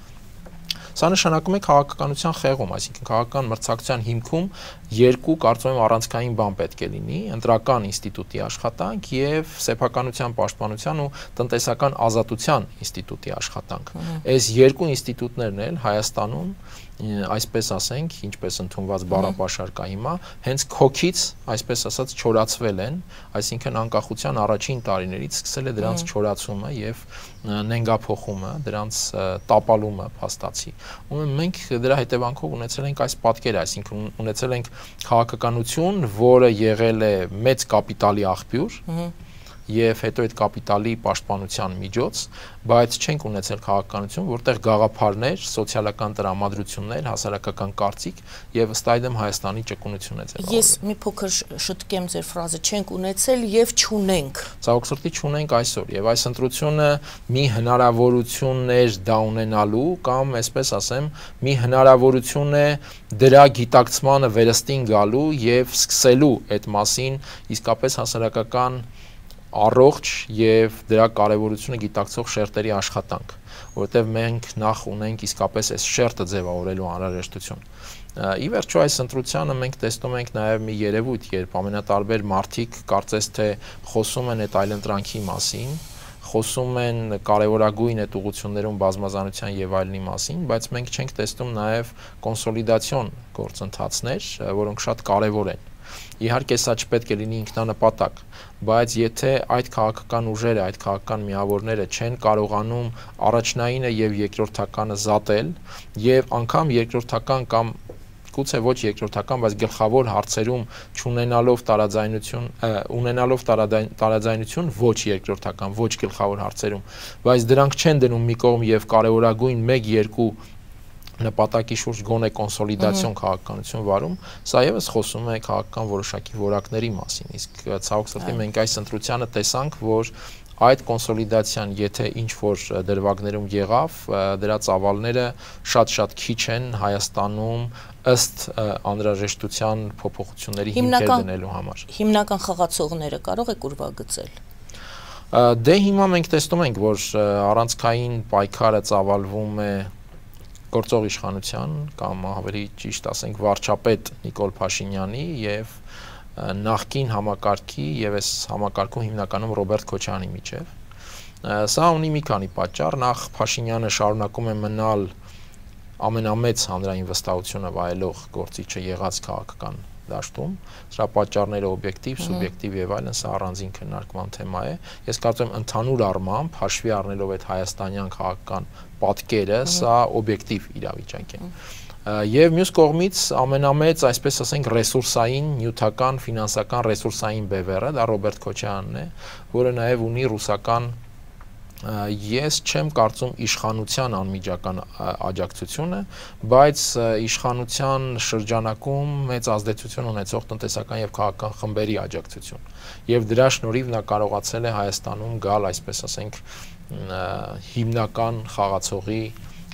Speaker 3: սա նշանակում է քաղաքականության խեղում, այսինքն քաղաքական մրցակցության հիմքում երկու կարծում եմ առանցքային բան պետք է լինի՝ ընտրական ինստիտուտի աշխատանք եւ սեփականության պաշտպանության ու տնտեսական ազատության ինստիտուտի աշխատանք։ Այս երկու ինստիտուտներն էլ Հայաստանում, այսպես ասենք, ինչպես ընդունված բառապաշար կա հիմա, հենց քոքից, այսպես ասած, չորացվել են, այսինքն անկախության առաջին տարիներից սկսել է դրանց չորացումը եւ նենգափոխումը, դրանց տապալումը փաստացի։ Ու մենք դրա հետևանքով ունեցել ենք այս պատկերը, այսինքն ունեցել ենք քաղաքականություն, որը եղել է մեծ կապիտալի աղբյուր, եւ հետո այդ կապիտալի պաշտպանության միջոց, բայց չենք ունեցել քաղաքականություն, որտեղ գաղափարներ, սոցիալական տրամադրություններ, հասարակական կարծիք եւ ըստ այդմ Հայաստանի ճկունություն է ձևավորվել։
Speaker 2: Ես մի փոքր շտկեմ ձեր ֆրազը, չենք ունեցել եւ չունենք։
Speaker 3: Ցավոք չունենք այսօր եւ այս ընտրությունը մի հնարավորություն էր դա ունենալու կամ այսպես ասեմ, մի հնարավորություն է դրա գիտակցմանը վերստին գալու եւ սկսելու այդ մասին իսկապես հասարակական առողջ եւ դրա կարեւորությունը գիտակցող շերտերի աշխատանք, որովհետեւ մենք նախ ունենք իսկապես այս շերտը ձևավորելու անհրաժեշտություն։ Ի վերջո այս ընտրությանը մենք տեսնում ենք նաեւ մի երևույթ, երբ ամենատարբեր մարդիկ կարծես թե խոսում են այդ այլընտրանքի մասին, խոսում են կարևորագույն այդ ուղղություններում բազմազանության եւ այլնի մասին, բայց մենք չենք տեսնում նաեւ կոնսոլիդացիոն գործընթացներ, որոնք շատ կարևոր են։ Իհարկե սա չպետք է լինի ինքնանպատակ, բայց եթե այդ քաղաքական ուժերը, այդ քաղաքական միավորները չեն կարողանում առաջնայինը եւ երկրորդականը զատել եւ անգամ երկրորդական կամ գուցե ոչ երկրորդական, բայց գլխավոր հարցերում չունենալով տարաձայնություն, ունենալով տարաձայնություն ոչ երկրորդական, ոչ գլխավոր հարցերում, բայց դրանք չեն դնում մի կողմ եւ կարևորագույն մեկ-երկու նպատակի շուրջ գոնե կոնսոլիդացիոն քաղաքականություն վարում, սա եւս խոսում է քաղաքական որոշակի որակների մասին, իսկ ցավոք սրտի մենք այս ընտրությանը տեսանք, որ այդ կոնսոլիդացիան, եթե ինչ-որ դրվագներում եղավ, դրա ծավալները շատ-շատ քիչ են Հայաստանում ըստ անհրաժեշտության փոփոխությունների հիմքեր դնելու համար։
Speaker 2: Հիմնական խաղացողները կարող եք ուրվագծել։
Speaker 3: Դե հիմա մենք տեսնում ենք, որ առանցքային պայքարը ծավալվում է գործող իշխանության կամ ավելի ճիշտ ասենք վարչապետ Նիկոլ Փաշինյանի եւ նախկին համակարգի եւ այս համակարգում հիմնականում Ռոբերտ Քոչարյանի միջեւ։ Սա ունի մի քանի պատճառ, նախ Փաշինյանը շարունակում է մնալ ամենամեծ հանրային վստահությունը վայելող գործիչը եղած քաղաքական դաշտում, սրա պատճառները օբյեկտիվ, սուբյեկտիվ եւ այլն, սա առանձին քննարկման թեմա է։ Ես կարծում եմ ընդհանուր առմամբ հաշվի առնելով այդ հայաստանյան քաղաքական պատկերը, սա օբյեկտիվ իրավիճակ է։ Եվ մյուս կողմից ամենամեծ, այսպես ասենք, ռեսուրսային, նյութական, ֆինանսական ռեսուրսային բևեռը դա Ռոբերտ Քոչարյանն է, որը նաեւ ունի ռուսական Ես չեմ կարծում իշխանության անմիջական աջակցությունը, բայց իշխանության շրջանակում մեծ ազդեցություն ունեցող տնտեսական եւ քաղաքական խմբերի աջակցություն։ Եվ դրա շնորհիվ նա կարողացել է Հայաստանում գալ, այսպես ասենք, հիմնական խաղացողի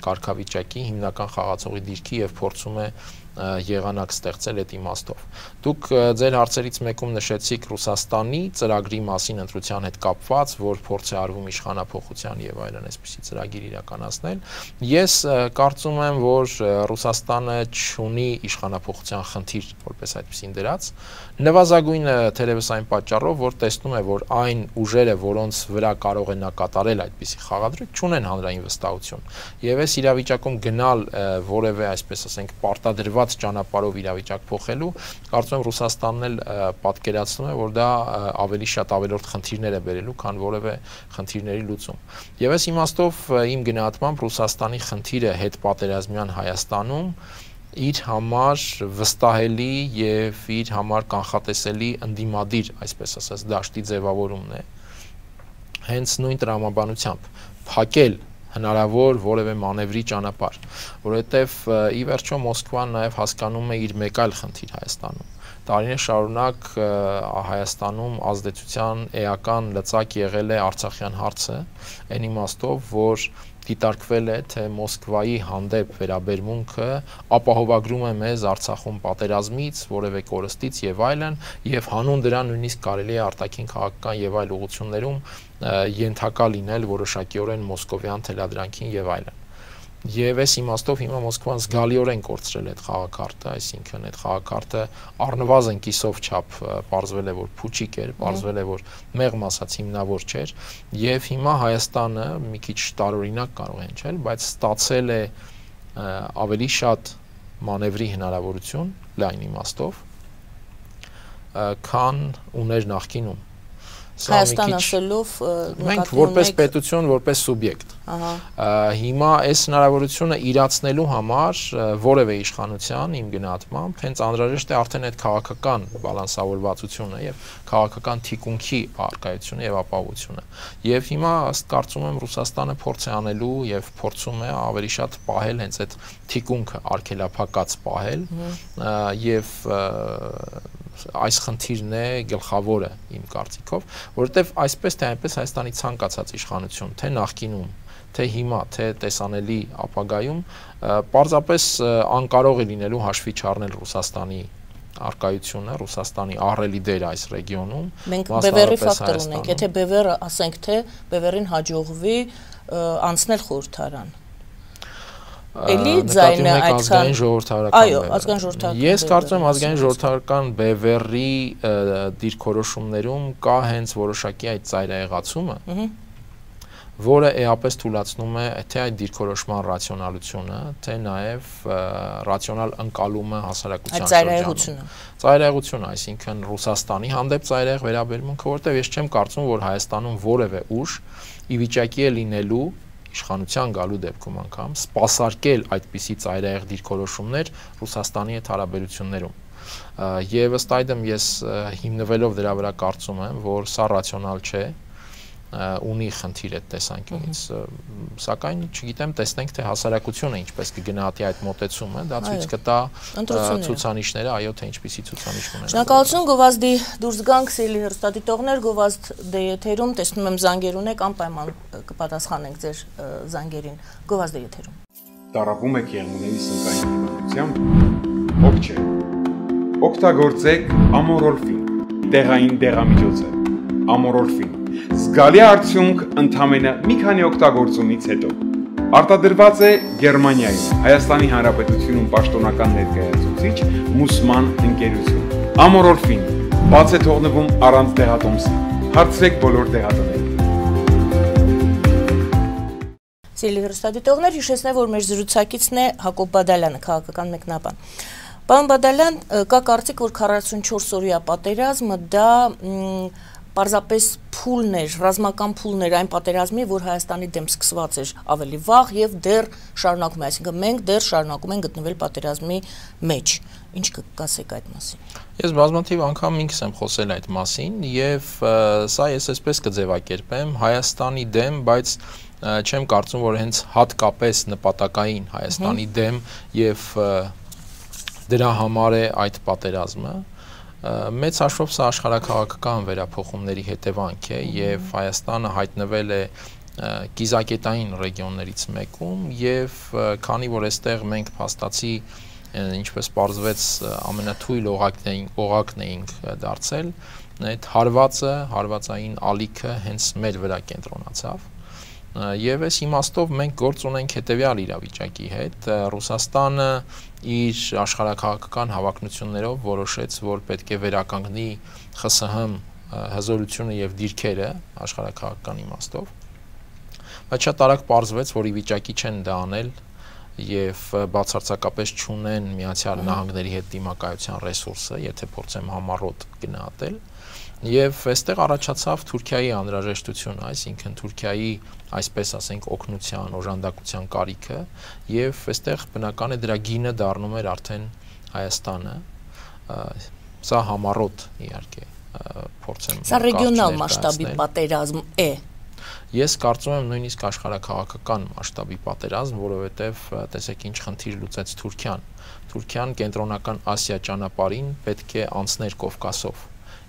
Speaker 3: կարգավիճակի, հիմնական խաղացողի դիրքի եւ փորձում է եղանակ ստեղծել այդ իմաստով։ Դուք ձեր հարցերից մեկում նշեցիք Ռուսաստանի ծրագրի մասին ընտրության հետ կապված, որ փորձ է արվում իշխանափոխության եւ այլն այսպիսի ծրագիր իրականացնել։ Ես կարծում եմ, որ Ռուսաստանը չունի իշխանափոխության խնդիր, որպես այդպեսին դրած, նվազագույնը թերևս այն պատճառով, որ տեսնում է, որ այն ուժերը, որոնց վրա կարող է նա կատարել այդպիսի խաղադրույք, չունեն հանրային վստահություն։ Եվ այս իրավիճակում գնալ որևէ, այսպես ասենք, պարտադրված ճանապարհով իրավիճակ փոխելու, կարծում եմ Ռուսաստանն էլ պատկերացնում է, որ դա ավելի շատ ավելորդ խնդիրներ է բերելու, քան որևէ խնդիրների լուծում։ Եվ այս իմաստով իմ գնահատմամբ Ռուսաստանի խնդիրը հետպատերազմյան Հայաստանում իր համար վստահելի եւ իր համար կանխատեսելի ընդդիմադիր, այսպես ասած, դաշտի ձևավորումն է։ Հենց նույն տրամաբանությամբ փակել հնարավոր որևէ մանևրի ճանապարհ, որովհետև ի վերջո Մոսկվան նաև հասկանում է իր մեկ այլ խնդիր Հայաստանում։ Տարիներ շարունակ Հայաստանում ազդեցության էական լծակ եղել է Արցախյան հարցը, այն իմաստով, որ դիտարկվել է, թե Մոսկվայի հանդեպ վերաբերմունքը ապահովագրում է մեզ Արցախում պատերազմից, որևէ կորստից եւ այլն, եւ հանուն դրա նույնիսկ կարելի է արտաքին քաղաքական եւ այլ ուղղություններում ենթակա լինել որոշակիորեն մոսկովյան թելադրանքին եւ այլն։ Եվ այս իմաստով հիմա Մոսկվան զգալիորեն կորցրել է այդ խաղակարտը, այսինքն այդ խաղակարտը առնվազն կիսով չափ պարզվել է, որ փուչիկ էր, պարզվել է, որ մեղմ ասած հիմնավոր չէր, եւ հիմա Հայաստանը մի քիչ տարօրինակ կարող է հնչել, բայց ստացել է ավելի շատ մանևրի հնարավորություն լայն իմաստով, քան ուներ նախկինում։
Speaker 2: Հայաստան ասելով
Speaker 3: մենք որպես պետություն, որպես սուբյեկտ։ Հիմա այս հնարավորությունը իրացնելու համար որևէ իշխանության իմ գնահատմամբ հենց անհրաժեշտ է արդեն այդ քաղաքական բալանսավորվածությունը եւ քաղաքական թիկունքի առկայությունը եւ ապահովությունը։ Եվ հիմա ըստ կարծում եմ Ռուսաստանը փորձ է անելու եւ փորձում է ավելի շատ պահել հենց այդ թիկունքը արգելափակած պահել եւ այս խնդիրն է գլխավորը իմ կարծիքով, որովհետև այսպես թե այնպես Հայաստանի ցանկացած իշխանություն, թե նախկինում, թե հիմա, թե տեսանելի ապագայում, պարզապես անկարող է լինելու հաշվի չառնել Ռուսաստանի արկայությունը, Ռուսաստանի ահռելի դերը այս ռեգիոնում։
Speaker 2: Մենք Բևերի ֆակտոր ունենք, եթե Բևերը ասենք թե Բևերին հաջողվի անցնել խորհրդարան։ Էլի ձայնը այդքան
Speaker 3: ժողովրդարական
Speaker 2: այո, ազգային ժողովրդարական։
Speaker 3: Ես կարծում եմ ազգային ժողովրդարական Բևերի դիրքորոշումներում կա հենց որոշակի այդ ծայրահեղացումը, որը էապես թույլատնում է թե այդ դիրքորոշման ռացիոնալությունը, թե նաև ռացիոնալ ընկալումը հասարակության
Speaker 2: շրջանում։
Speaker 3: Ծայրահեղությունը, այսինքն Ռուսաստանի հանդեպ ծայրահեղ վերաբերմունքը, որտեղ ես չեմ կարծում, որ Հայաստանում որևէ ուժ ի վիճակի է լինելու իշխանության գալու դեպքում անգամ սպասարկել այդպիսի ծայրահեղ դիրքորոշումներ Ռուսաստանի հետ հարաբերություններում։ Եվ ըստ այդմ ես հիմնվելով դրա վրա կարծում եմ, որ սա ռացիոնալ չէ, ունի խնդիր այդ տեսանկյունից, սակայն չգիտեմ, տեսնենք թե հասարակությունը ինչպես կգնահատի այդ մոտեցումը, դա ցույց կտա ցուցանիշները, այո, թե ինչպիսի ցուցանիշ ունեն։
Speaker 2: Շնորհակալություն, գովազդի դուրս գանք, սիրելի հեռուստադիտողներ, գովազդ դե եթերում, տեսնում եմ զանգեր ունեք, անպայման կպատասխանենք ձեր զանգերին, գովազդի եթերում։
Speaker 4: Տառապում եք եղունգների սնկային հիվանդությամբ, հոգ չէ։ Օգտագործեք ամորոլֆին, տեղային դեղամիջոցը, ամորոլֆին։ Զգալի արդյունք ընդամենը մի քանի օգտագործումից հետո։ Արտադրված է Գերմանիայում, Հայաստանի Հանրապետությունում պաշտոնական ներկայացուցիչ Մուսման ընկերություն։ Ամորոլֆին բաց է թողնվում առանց դեղատոմսի։ Հարցրեք բոլոր դեղատներին։
Speaker 2: Սիրելի հեռուստադիտողներ, հիշեցնեմ, որ մեր զրուցակիցն է Հակոբ Բադալյանը, քաղաքական մեկնաբան։ Պարոն Բադալյան, կա կարծիք, որ քառասունչորս օրյա պատերազմը դա պարզապես փուլն էր, ռազմական փուլն էր այն պատերազմի, որ Հայաստանի դեմ սկսված էր ավելի վաղ եւ դեռ շարունակում է, այսինքն մենք դեռ շարունակում ենք գտնվել պատերազմի մեջ։ Ինչ կասեք այդ մասին։
Speaker 3: Ես բազմաթիվ անգամ ինքս եմ խոսել այդ մասին եւ սա ես այսպես կձևակերպեմ Հայաստանի դեմ, բայց չեմ կարծում, որ հենց հատկապես նպատակային Հայաստանի դեմ եւ դրա համար է այդ պատերազմը։ Մեծ հաշվով սա աշխարհաքաղաքական վերափոխումների հետևանք է եւ Հայաստանը հայտնվել է կիզակետային ռեգիոններից մեկում եւ քանի որ այստեղ մենք փաստացի ինչպես պարզվեց ամենաթույլ օղակն էինք դարձել, այդ հարվածը, հարվածային ալիքը հենց մեր վրա կենտրոնացավ։ Եվ այս իմաստով մենք գործ ունենք հետևյալ իրավիճակի հետ, Ռուսաստանը իր աշխարհաքաղաքական հավակնություններով որոշեց, որ պետք է վերականգնի ԽՍՀՄ հզորությունը եւ դիրքերը աշխարհաքաղաքական իմաստով, բայց շատ արագ պարզվեց, որ ի վիճակի չեն դա անել եւ բացարձակապես չունեն Միացյալ Նահանգների հետ դիմակայության ռեսուրսը, եթե փորձեմ համառոտ գնահատել, եւ այստեղ առաջացավ Թուրքիայի անհրաժեշտությունը, այսինքն Թուրքիայի, այսպես ասենք, օգնության, օժանդակության կարիքը եւ այստեղ բնական է դրա գինը դառնում էր արդեն Հայաստանը, սա համառոտ իհարկե փորձեմ
Speaker 2: Սա ռեգիոնալ մասշտաբի պատերազմ է։
Speaker 3: Ես կարծում եմ նույնիսկ աշխարհաքաղաքական մասշտաբի պատերազմ, որովհետև տեսեք ինչ խնդիր լուծեց Թուրքիան։ Թուրքիան կենտրոնական Ասիա ճանապարհին պետք է անցներ Կովկասով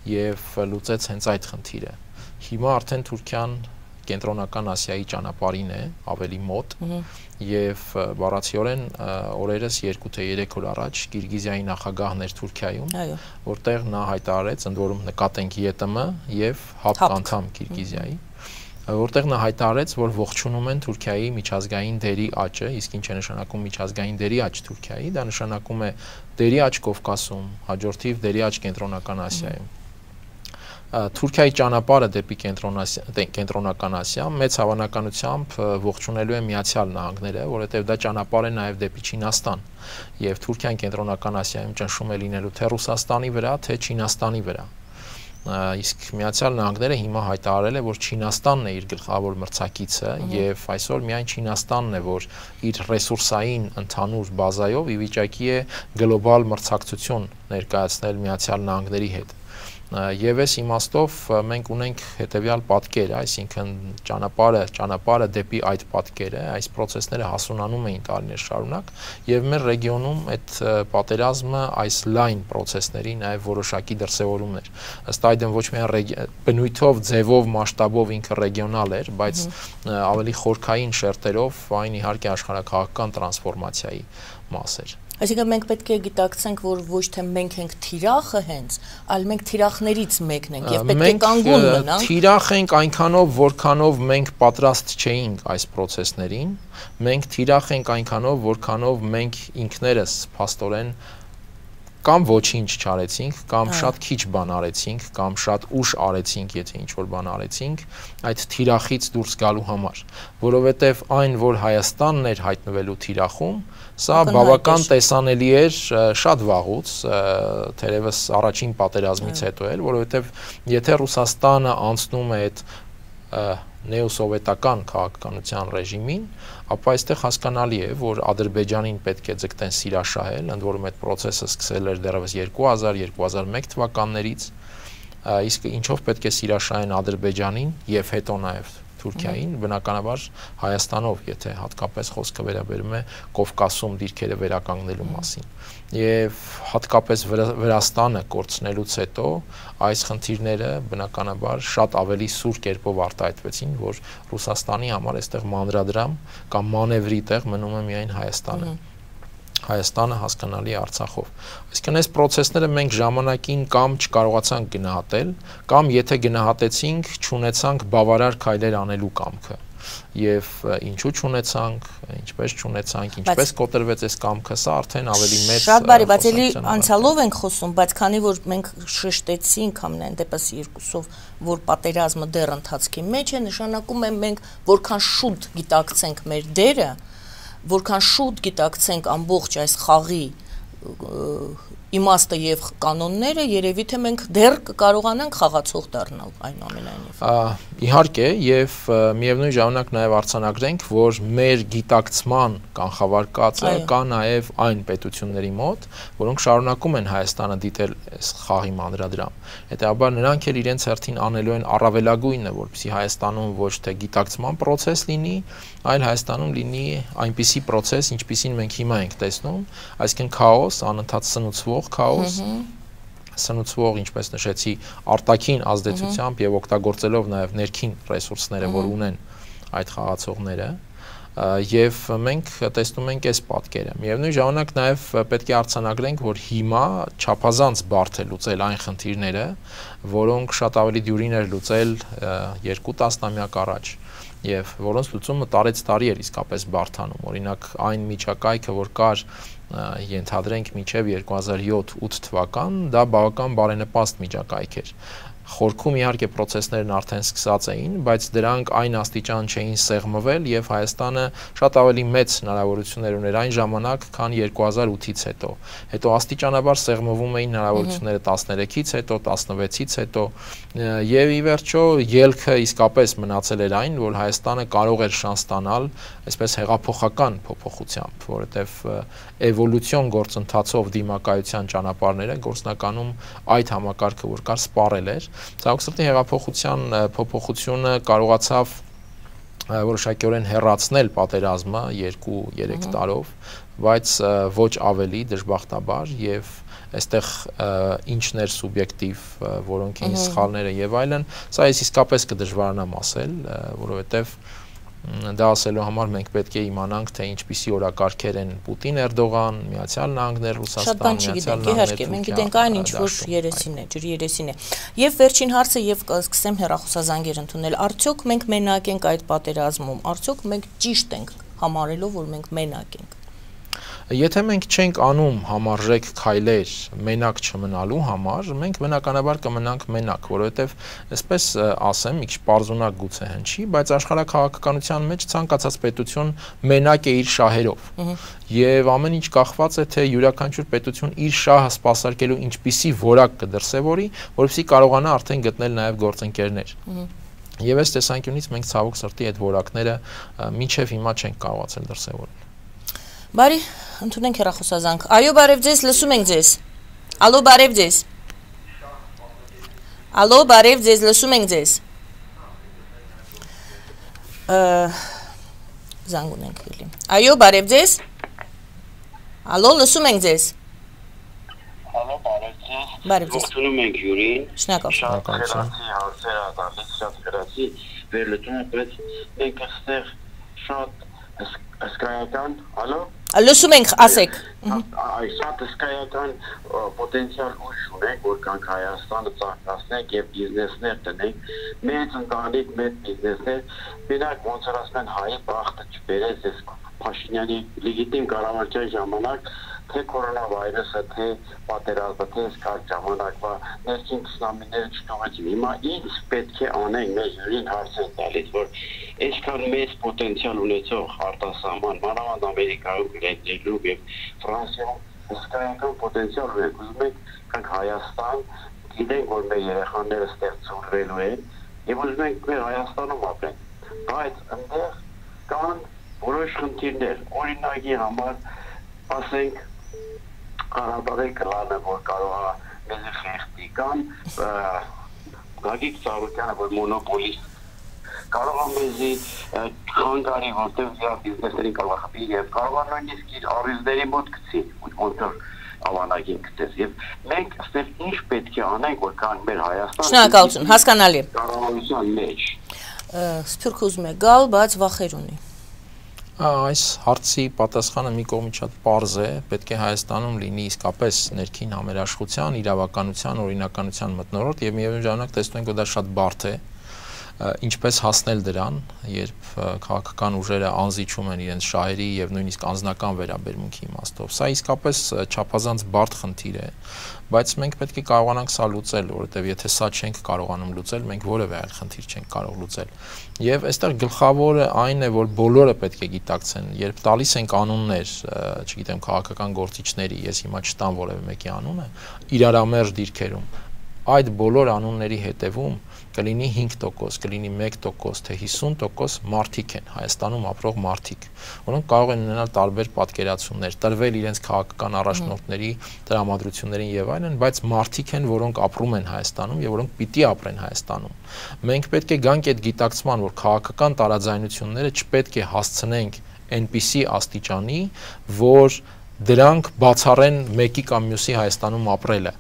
Speaker 3: եւ լուծեց հենց այդ խնդիրը։ Հիմա արդեն Թուրքիան կենտրոնական Ասիայի ճանապարհին է, ավելի մոտ, եւ բառացիորեն օրերս երկու թե երեք օր առաջ Կիրգիզիայի նախագահն էր Թուրքիայում, որտեղ նա հայտարարեց, ընդ որում նկատենք ԵՏՄ եւ ՀԱՊԿ անդամ Կիրգիզիայի, որտեղ նա հայտարարեց, որ ողջունում են Թուրքիայի միջազգային դերի աճը, իսկ ինչ է նշանակում միջազգային դերի աճ Թուրքիայի, դա նշանակում է դերի աճ Կովկասում, հաջորդիվ դերի աճ կենտրոնական Ասիայում։ Թուրքիայի ճանապարհը դեպի կենտրոնական Ասիա մեծ հավանականությամբ ողջունելու է Միացյալ Նահանգները, որովհետև դա ճանապարհ է նաև դեպի Չինաստան, եւ Թուրքիան կենտրոնական Ասիայում ճնշում է լինելու թե Ռուսաստանի վրա, թե Չինաստանի վրա։ Իսկ Միացյալ Նահանգները հիմա հայտարարել է, որ Չինաստանն է իր գլխավոր մրցակիցը եւ այսօր միայն Չինաստանն է, որ իր ռեսուրսային ընդհանուր բազայով ի վիճակի է գլոբալ մրցակցություն ներկայացնել Միացյալ Նահանգների հետ։ Եվ այս իմաստով մենք ունենք հետևյալ պատկեր, այսինքն ճանապարհը, ճանապարհը դեպի այդ պատկերը, այս process-ները հասունանում էին տարիներ շարունակ, եւ մեր ռեգիոնում այդ պատերազմը այս լայն process-ների նաեւ որոշակի դրսևորումներ։ Ըստ այդմ ոչ միայն բնույթով, ձևով, մասշտաբով ինքը ռեգիոնալ էր, բայց ավելի խորքային շերտերով այն իհարկե աշխարհաքաղաքական տրանսֆորմացիայի մաս էր։
Speaker 2: Այսինքն մենք պետք է գիտակցենք, որ ոչ թե մենք ենք թիրախը հենց, այլ մենք թիրախներից մեկն ենք եւ պետք է կանգուն մնանք։
Speaker 3: Թիրախ ենք այնքանով, որքանով մենք պատրաստ չէինք այս process-ներին, մենք թիրախ ենք այնքանով, որքանով մենք ինքներս փաստորեն կամ ոչինչ չարեցինք, կամ շատ քիչ բան արեցինք, կամ շատ ուշ արեցինք, եթե ինչ-որ բան արեցինք, այդ թիրախից դուրս գալու համար, որովհետև այն, որ Հայաստանն էր հայտնվելու թիրախում, սա բավական տեսանելի էր շատ վաղուց, թերևս առաջին պատերազմից հետո էլ, որովհետև եթե Ռուսաստանը անցնում է այդ նեոսովետական քաղաքականության ռեժիմին, ապա այստեղ հասկանալի է, որ Ադրբեջանին պետք է ձգտեն սիրաշահել, ընդ որում այդ process-ը սկսել էր դեռևս երկու հազար երկու հազար մեկ թվականներից, իսկ ինչով պետք է սիրաշահեն Ադրբեջանին եւ հետո նաեւ Թուրքիային, բնականաբար Հայաստանով, եթե հատկապես խոսքը վերաբերում է Կովկասում դիրքերը վերականգնելու մասին։ Եվ հատկապես Վրաստանը կորցնելուց հետո այս խնդիրները բնականաբար շատ ավելի սուր կերպով արտահայտվեցին, որ Ռուսաստանի համար այստեղ մանրադրամ կամ մանևրի տեղ մնում է միայն Հայաստանը։ Հայաստանը հասկանալի Արցախով։ Այսինքն այս process-ները մենք ժամանակին կամ չկարողացանք գնահատել, կամ եթե գնահատեցինք, չունեցանք բավարար քայլեր անելու կամքը։ Եվ ինչու չունեցանք, ինչպես չունեցանք, ինչպես կոտրվեց այս կամքը, սա արդեն ավելի մեծ
Speaker 2: Շատ բարի, բայց էլի անցյալով ենք խոսում, բայց քանի որ մենք շեշտեցինք ամենայն դեպս երկուսով, որ պատերազմը դեռ ընթացքի մեջ է, նշանակում է մենք որքան շուտ գիտակցենք մեր դերը, որքան շուտ գիտակցենք ամբողջ այս խաղի իմաստը եւ կանոնները, երևի թե մենք դեռ կկարողանանք խաղացող դառնալ այնուամենայնիվ։
Speaker 3: Իհարկե, եւ միևնույն ժամանակ նաեւ արձանագրենք, որ մեր գիտակցման կանխավարկածը կա նաեւ այն պետությունների մոտ, որոնք շարունակում են Հայաստանը դիտել այս խաղի մանրադրամ։ Հետեւաբար նրանք էլ իրենց հերթին անելու են առավելագույնը, որպեսզի Հայաստանում ոչ թե գիտակցման process լինի, այլ Հայաստանում լինի այնպիսի process, ինչպիսին մենք հիմա ենք տեսնում, այսինքն քաոս, անընդհատ սնուցվող քաոս, սնուցվող, ինչպես նշեցի, արտաքին ազդեցությամբ եւ օգտագործելով նաեւ ներքին ռեսուրսները, որ ունեն այդ խաղացողները, եւ մենք տեսնում ենք այս պատկերը։ Միևնույն ժամանակ նաեւ պետք է արձանագրենք, որ հիմա չափազանց բարդ է լուծել այն խնդիրները, որոնք շատ ավելի դյուրին էր լուծել երկու տասնամյակ առաջ, եւ որոնց լուծումը տարեց տարի էր իսկապես բարդանում։ Օրինակ այն միջակայքը, որ կար ենթադրենք մինչև երկու հազար յոթ ութ թվական, դա բավական բարենպաստ միջակայք էր։ Խորքում իհարկե process-ներն արդեն սկսած էին, բայց դրանք այն աստիճան չէին սեղմվել եւ Հայաստանը շատ ավելի մեծ հնարավորություններ ուներ այն ժամանակ, քան երկու հազար ութից հետո։ Հետո աստիճանաբար սեղմվում էին հնարավորությունները տասներեքից հետո, տասնվեցից հետո եւ ի վերջո ելքը իսկապես մնացել էր այն, որ Հայաստանը կարող էր շանս ստանալ այսպես հեղափոխական փոփոխությամբ, որովհետեւ էվոլյուցիոն գործընթացով դիմակայության ճանապարհները գործնականում այդ համակարգը, որ կար, սպառել էր։ Ցավոք սրտի հեղափոխության փոփոխությունը կարողացավ որոշակիորեն հեռացնել պատերազմը երկու երեք տարով, բայց ոչ ավելի դժբախտաբար եւ այստեղ ինչներ սուբյեկտիվ, որոնք են սխալները եւ այլն, սա ես իսկապես կդժվարանամ ասել, որովհետեւ դա ասելու համար մենք պետք է իմանանք, թե ինչպիսի օրակարգեր են Պուտին, Էրդողան, Միացյալ Նահանգներ, Ռուսաստան, Միացյալ Նահանգներ,
Speaker 2: մենք գիտենք այն ինչ որ երեսին է, ջրի երեսին է։ Եվ վերջին հարցը եւ սկսեմ հեռախոսազանգեր ընդունել, արդյոք մենք մենակ ենք այդ պատերազմում, արդյոք մենք ճիշտ ենք համարելով, որ մենք մենակ ենք։
Speaker 3: Եթե մենք չենք անում համարժեք քայլեր մենակ չմնալու համար, մենք բնականաբար կմնանք մենակ, որովհետև այսպես ասեմ, մի քիչ պարզունակ գուցե հնչի, բայց աշխարհաքաղաքականության մեջ ցանկացած պետություն մենակ է իր շահերով։ Եվ ամեն ինչ կախված է, թե յուրաքանչյուր պետություն իր շահը սպասարկելու ինչպիսի որակ կդրսևորի, որովհետեւ կարողանա արդեն գտնել նաև գործընկերներ։ Եվ այս տեսանկյունից մենք ցավոք սրտի այդ որակները մինչև հիմա չենք կարողացել դրսևորել։
Speaker 2: Բարի, ընդունենք հեռախոսազանգ։ Այո, բարև ձեզ, լսում ենք ձեզ։ Ալո, բարև ձեզ։ Ալո, բարև ձեզ, լսում ենք ձեզ։ Զանգ ունենք էլի։ Այո, բարև ձեզ։ Ալո, լսում ենք ձեզ։
Speaker 5: Ալո, բարև ձեզ։
Speaker 2: Բարև ձեզ։
Speaker 5: Ողջունում ենք Յուրին։
Speaker 2: Շնորհակալ։
Speaker 5: Շատ խելացի հարցեր ա տալիս, շատ խելացի վերլուծում եք, բայց մենք այստեղ շատ հսկայական, ալո։
Speaker 2: Լսում ենք, ասեք։
Speaker 5: Այս շատ հսկայական պոտենցիալ ուժ ունենք, որ կանք Հայաստանը ծաղկացնենք եւ բիզնեսներ տնենք, մեծ ընտանիք, մեծ բիզնեսներ, մենակ ոնց որ ասեն հայի բախտը չբերեց այս Փաշինյանի լեգիտիմ կառավարության ժամանակ, թե կորոնավիրուսը, թե պատերազմը, թե սկսած ժամանակվա ներքին քսնամիները չթողեցին։ Հիմա ինչ պետք է անենք, մեր յուրին հարց են տալիս, որ այսքան մեծ պոտենցիալ ունեցող արտասահման, մանավանդ Ամերիկայում, Գրեջերում եւ Ֆրանսիայում հսկայական պոտենցիալ ունենք, ուզում ենք կանք Հայաստան, գիտենք, որ մեր երեխաները ստեղծվելու են եւ ուզում ենք մեր Հայաստանում ապրեն, բայց այնտեղ կան որոշ խնդիրներ, օրինակի համար, ասենք, Ղարաբաղի կլանը, որ կարող է մեզ խեղդի, կամ Գագիկ Ծառուկյանը, որ մոնոպոլիստ, կարող է մեզի խանգարի, որտեղ իր բիզնեսներին կարող է խփի եւ կարող է նույնիսկ իր առիթների մոտ գցի, ոնց ավանագին գտես եւ մենք այստեղ ինչ պետք է անենք, որ կան մեր Հայաստան։
Speaker 2: Շնորհակալություն, հասկանալի։
Speaker 5: Կառավարության մեջ։
Speaker 2: Սփյուռք ուզում է գալ, բայց վախեր ունի։
Speaker 3: Այս հարցի պատասխանը մի կողմից շատ պարզ է, պետք է Հայաստանում լինի իսկապես ներքին համերաշխության, իրավականության, օրինականության մթնոլորտ եւ միևնույն ժամանակ տեսնում ենք, որ դա շատ բարդ է, ինչպես հասնել դրան, երբ քաղաքական ուժերը անզիջում են իրենց շահերի եւ նույնիսկ անձնական վերաբերմունքի իմաստով։ Սա իսկապես չափազանց բարդ խնդիր է, բայց մենք պետք է կարողանանք սա լուծել, որովհետեւ եթե սա չենք կարողանում լուծել, մենք որևէ այլ խնդիր չենք կարող լուծել։ Եվ այստեղ գլխավորը այն է, որ բոլորը պետք է գիտակցեն, երբ տալիս են կանոններ, չգիտեմ, քաղաքական գործիչների, ես հիմա չտամ որևէ մեկի անունը, իրարամերժ դիրքերում, այդ բոլոր անունների հետևում կլինի հինգ տոկոս, կլինի մեկ տոկոս, թե հիսուն տոկոս մարդիկ են, Հայաստանում ապրող մարդիկ, որոնք կարող են ունենալ տարբեր պատկերացումներ, տրվել իրենց քաղաքական առաջնորդների տրամադրություններին եւ այլն, բայց մարդիկ են, որոնք ապրում են Հայաստանում եւ որոնք պիտի ապրեն Հայաստանում։ Մենք պետք է գանք այդ գիտակցման, որ քաղաքական տարաձայնությունները չպետք է հասցնենք այնպիսի աստիճանի, որ դրանք բացառեն մեկի կամ մյուսի Հայաստանում ապրելը։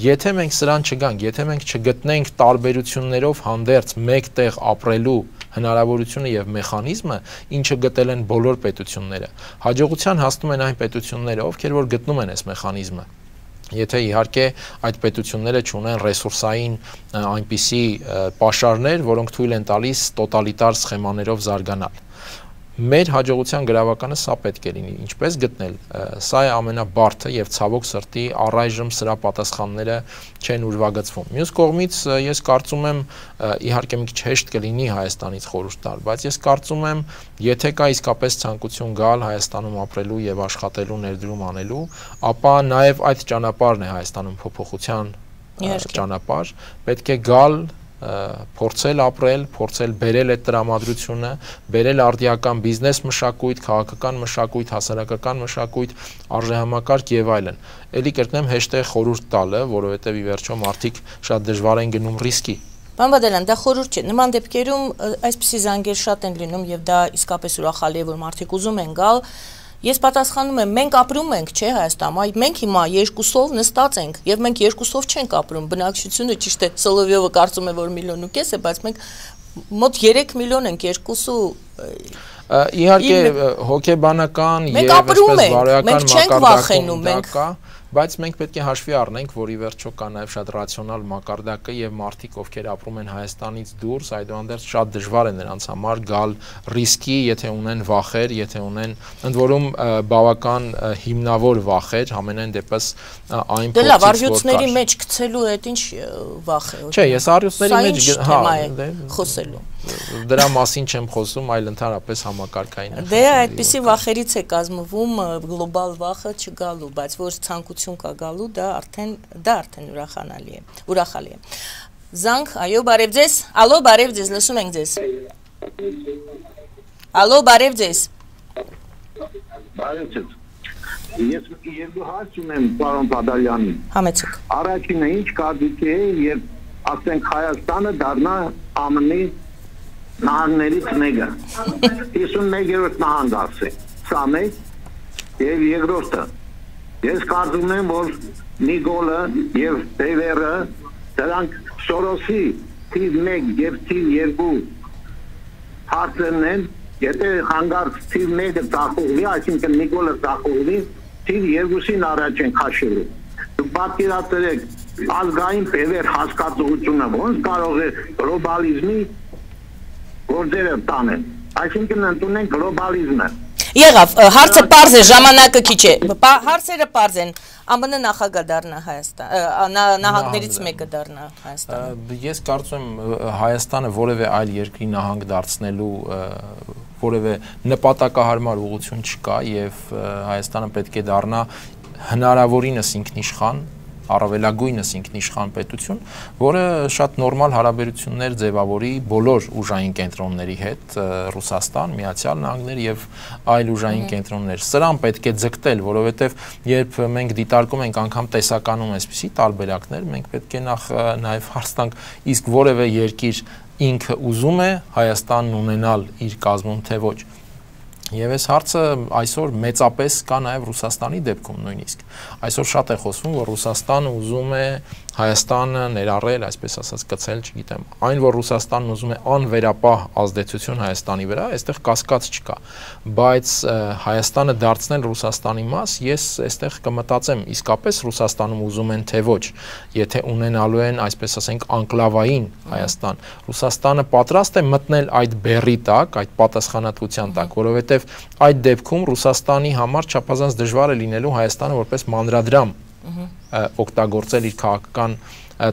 Speaker 3: Եթե մենք սրան չգանք, եթե մենք չգտնենք տարբերություններով հանդերձ մեկտեղ ապրելու հնարավորությունը եւ մեխանիզմը, ինչը գտել են բոլոր պետությունները, հաջողության հասնում են այն պետությունները, ովքեր որ գտնում են այս մեխանիզմը։ Եթե իհարկե այդ պետությունները չունեն ռեսուրսային այնպիսի պաշարներ, որոնք թույլ են տալիս տոտալիտար սխեմաներով զարգանալ։ Մեր հաջողության գրավականը սա պետք է լինի, ինչպես գտնել, սա է ամենաբարդը եւ ցավոք սրտի առայժմ սրա պատասխանները չեն ուրվագծվում։ Մյուս կողմից ես կարծում եմ, իհարկե մի քիչ հեշտ կլինի Հայաստանից խորհուրդ տալ, բայց ես կարծում եմ, եթե կա իսկապես ցանկություն գալ Հայաստանում ապրելու եւ աշխատելու, ներդրում անելու, ապա նաեւ այդ ճանապարհն է Հայաստանում փոփոխության ճանապարհ, պետք է գալ փորձել ապրել, փորձել բերել այդ տրամադրությունը, բերել արդիական բիզնես մշակույթ, քաղաքական մշակույթ, հասարակական մշակույթ, արժեհամակարգ եւ այլն։ Էլի կրկնեմ հեշտ է խորհուրդ տալը, որովհետեւ ի վերջո մարդիկ շատ դժվար են գնում ռիսկի,
Speaker 2: Պարոն Բադալյան, դա խորհուրդ չէ։ Նման դեպքերում այսպիսի զանգեր շատ են լինում եւ դա իսկապես ուրախալի է, որ մարդիկ ուզում են գալ։ Ես պատասխանում եմ, մենք ապրում ենք, չէ, Հայաստանում, այ մենք հիմա երկուսով նստած ենք եւ մենք երկուսով չենք ապրում։ Բնակչությունը ճիշտ է, Սոլովյովը կարծում է, որ միլիոն ու կես է, բայց մենք մոտ երեք միլիոն ենք, երկուսու
Speaker 3: Իհարկե հոգեբանական եւ այսպես բարոյական մակարդակում դա կա, բայց մենք պետք է հաշվի առնենք, որ ի վերջո կա նաև շատ ռացիոնալ մակարդակը եւ մարդիկ, ովքեր ապրում են Հայաստանից դուրս, այդուհանդերձ շատ դժվար է նրանց համար գալ ռիսկի, եթե ունեն վախեր, եթե ունեն ընդ որում բավական հիմնավոր վախեր, ամենայն դեպս այն
Speaker 2: փոխից որ կա։ Դե լավ, արյուծների մեջ գցելու հետ ինչ վախ է։
Speaker 3: Չէ, ես արյուծների մեջ
Speaker 2: հա խոսելու
Speaker 3: Դրա մասին չեմ խոսում, այլ ընդհանրապես համակարգային։
Speaker 2: Դե այդպիսի վախերից է կազմվում գլոբալ վախը չգալու, բայց որ ցանկություն կա գալու, դա արդեն դա արդեն ուրախանալի է, ուրախալի է։ Զանգ, այո, բարև ձեզ։ Ալո, բարև ձեզ, լսում ենք ձեզ։ Ալո, բարև ձեզ։
Speaker 5: Բարև ձեզ։ Ես երկու հարց ունեմ պարոն Բադալյանին։
Speaker 2: Համեցեք։
Speaker 5: Առաջինը ինչ կարծիք է, երբ ասենք Հայաստանը դառնա ԱՄՆ-ի նահանգներից մեկը, հիսունմեկերորդ նահանգ ասե, սա մեկ, և երկրորդը, ես կարծում եմ, որ Նիկոլը և Տևերը, դրանք Սորոսի թիվ մեկ և թիվ երկու հարցերն են, եթե հանգարց թիվ մեկը ծախողվի, այսինքն Նիկոլը ծախողվի, թիվ երկուսին առաջ են քաշելու։ Դուք պատկերացրեք, ազգային բևեր հասկացողությունը ոնց կարող է գլոբալիզմի գործերը տանել, այսինքն ընդունենք գլոբալիզմը։
Speaker 2: Եղավ, հարցը պարզ է, ժամանակը քիչ է, հարցերը պարզ են, ԱՄՆ նախագահ դառնա Հայաստան, նահանգներից մեկը դառնա Հայաստանը։
Speaker 3: Ես կարծում եմ Հայաստանը որևէ այլ երկրի նահանգ դարձնելու որևէ նպատակահարմար ուղղություն չկա եւ Հայաստանը պետք է դառնա հնարավորինս ինքնիշխան, առավելագույնս ինքնիշխան պետություն, որը շատ նորմալ հարաբերություններ ձևավորի բոլոր ուժային կենտրոնների հետ, Ռուսաստան, Միացյալ Նահանգներ եւ այլ ուժային կենտրոններ։ Սրան պետք է ձգտել, որովհետեւ երբ մենք դիտարկում ենք անգամ տեսականում այսպիսի տարբերակներ, մենք պետք է նախ նաեւ հարց տանք, իսկ որևէ երկիր ինքը ուզում է Հայաստանն ունենալ իր կազմում թե ոչ։ Եվ այս հարցը այսօր մեծապես կա նաև Ռուսաստանի դեպքում նույնիսկ։ Այսօր շատ է խոսվում, որ Ռուսաստանը ուզում է Հայաստանը ներառել, այսպես ասած, կցել, չգիտեմ, այն որ Ռուսաստանն ուզում է անվերապահ ազդեցություն Հայաստանի վրա, այստեղ կասկած չկա, բայց Հայաստանը դարձնել Ռուսաստանի մաս, ես այստեղ կմտածեմ, իսկապես Ռուսաստանում ուզում են թե ոչ, եթե ունենալու են, այսպես ասենք, անկլավային Հայաստան, Ռուսաստանը պատրաստ է մտնել այդ բեռի տակ, այդ պատասխանատվության տակ, որովհետև այդ դեպքում Ռուսաստանի համար չափազանց դժվար է լինելու Հայաստանը որպես մանրադրամ օգտագործել իր քաղաքական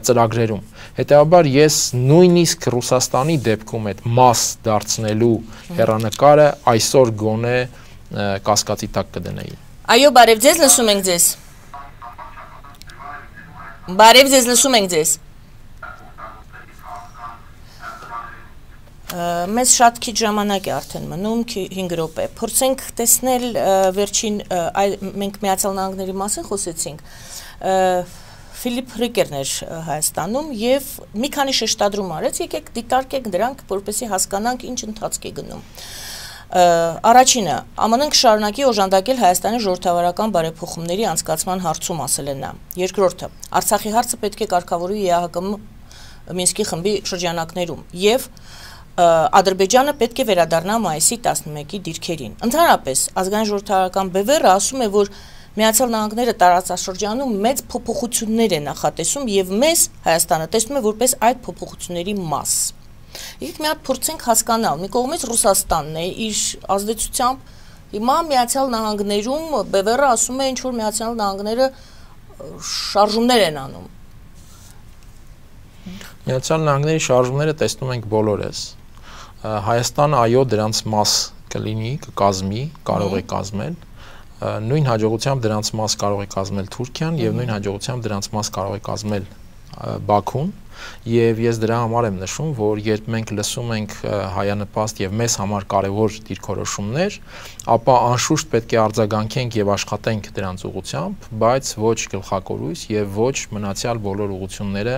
Speaker 3: ծրագրերում։ Հետևաբար ես նույնիսկ Ռուսաստանի դեպքում այդ մաս դարձնելու հեռանկարը այսօր գոնե կասկածի տակ կդնեի։
Speaker 2: Այո, բարև ձեզ, լսում ենք ձեզ։ Բարև ձեզ, լսում ենք ձեզ։ Մեզ շատ քիչ ժամանակ է արդեն մնում, հինգ րոպե։ Փորձենք տեսնել վերջին, մենք Միացյալ Նահանգների մասին խոսեցինք, Ֆիլիպ Ռիկերն էր Հայաստանում և մի քանի շեշտադրում արեց, եկեք դիտարկեք դրանք, որպեսզի հասկանանք ինչ ընթացք է գնում։ Առաջինը, ԱՄՆ-ն կշարունակի օժանդակել Հայաստանի ժողովրդավարական բարեփոխումների անցկացման հարցում, ասել է նա։ Երկրորդը, Արցախի հարցը պետք է կարգավորվի ԵԱՀԿ Մինսկի խմբի շրջանակներում և Ադրբեջանը պետք է վերադառնա մայիսի տասնմեկի դիրքերին։ Ընդհանրապես, ազգային ժողովրդավարական բևեռը ասում է, որ Միացյալ Նահանգները տարածաշրջանում մեծ փոփոխություններ է նախատեսում եւ մեզ Հայաստանը տեսնում է որպես այդ փոփոխությունների մաս։ Եկեք մի հատ փորձենք հասկանալ, մի կողմից Ռուսաստանն է իր ազդեցությամբ, հիմա Միացյալ Նահանգներում բևեռը ասում է, ինչ որ Միացյալ Նահանգները շարժումներ են անում։
Speaker 3: Միացյալ Նահանգների շարժումները տեսնում ենք բոլորս։ Հայաստանը այո դրանց մաս կլինի, կկազմի, կարող է կազմել, նույն հաջողությամբ դրանց մաս կարող է կազմել Թուրքիան եւ նույն հաջողությամբ դրանց մաս կարող է կազմել Բաքուն եւ ես դրա համար եմ նշում, որ երբ մենք լսում ենք հայանպաստ եւ մեզ համար կարեւոր դիրքորոշումներ, ապա անշուշտ պետք է արձագանքենք եւ աշխատենք դրանց ուղղությամբ, բայց ոչ գլխակորույս եւ ոչ մնացյալ բոլոր ուղղությունները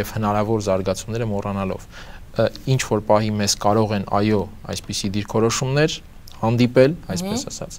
Speaker 3: եւ հնարավոր զարգացումները մոռանալով։ Ինչ որ պահի մեզ կարող են այո, այսպիսի դիրքորոշումներ հանդիպել, այսպես ասած,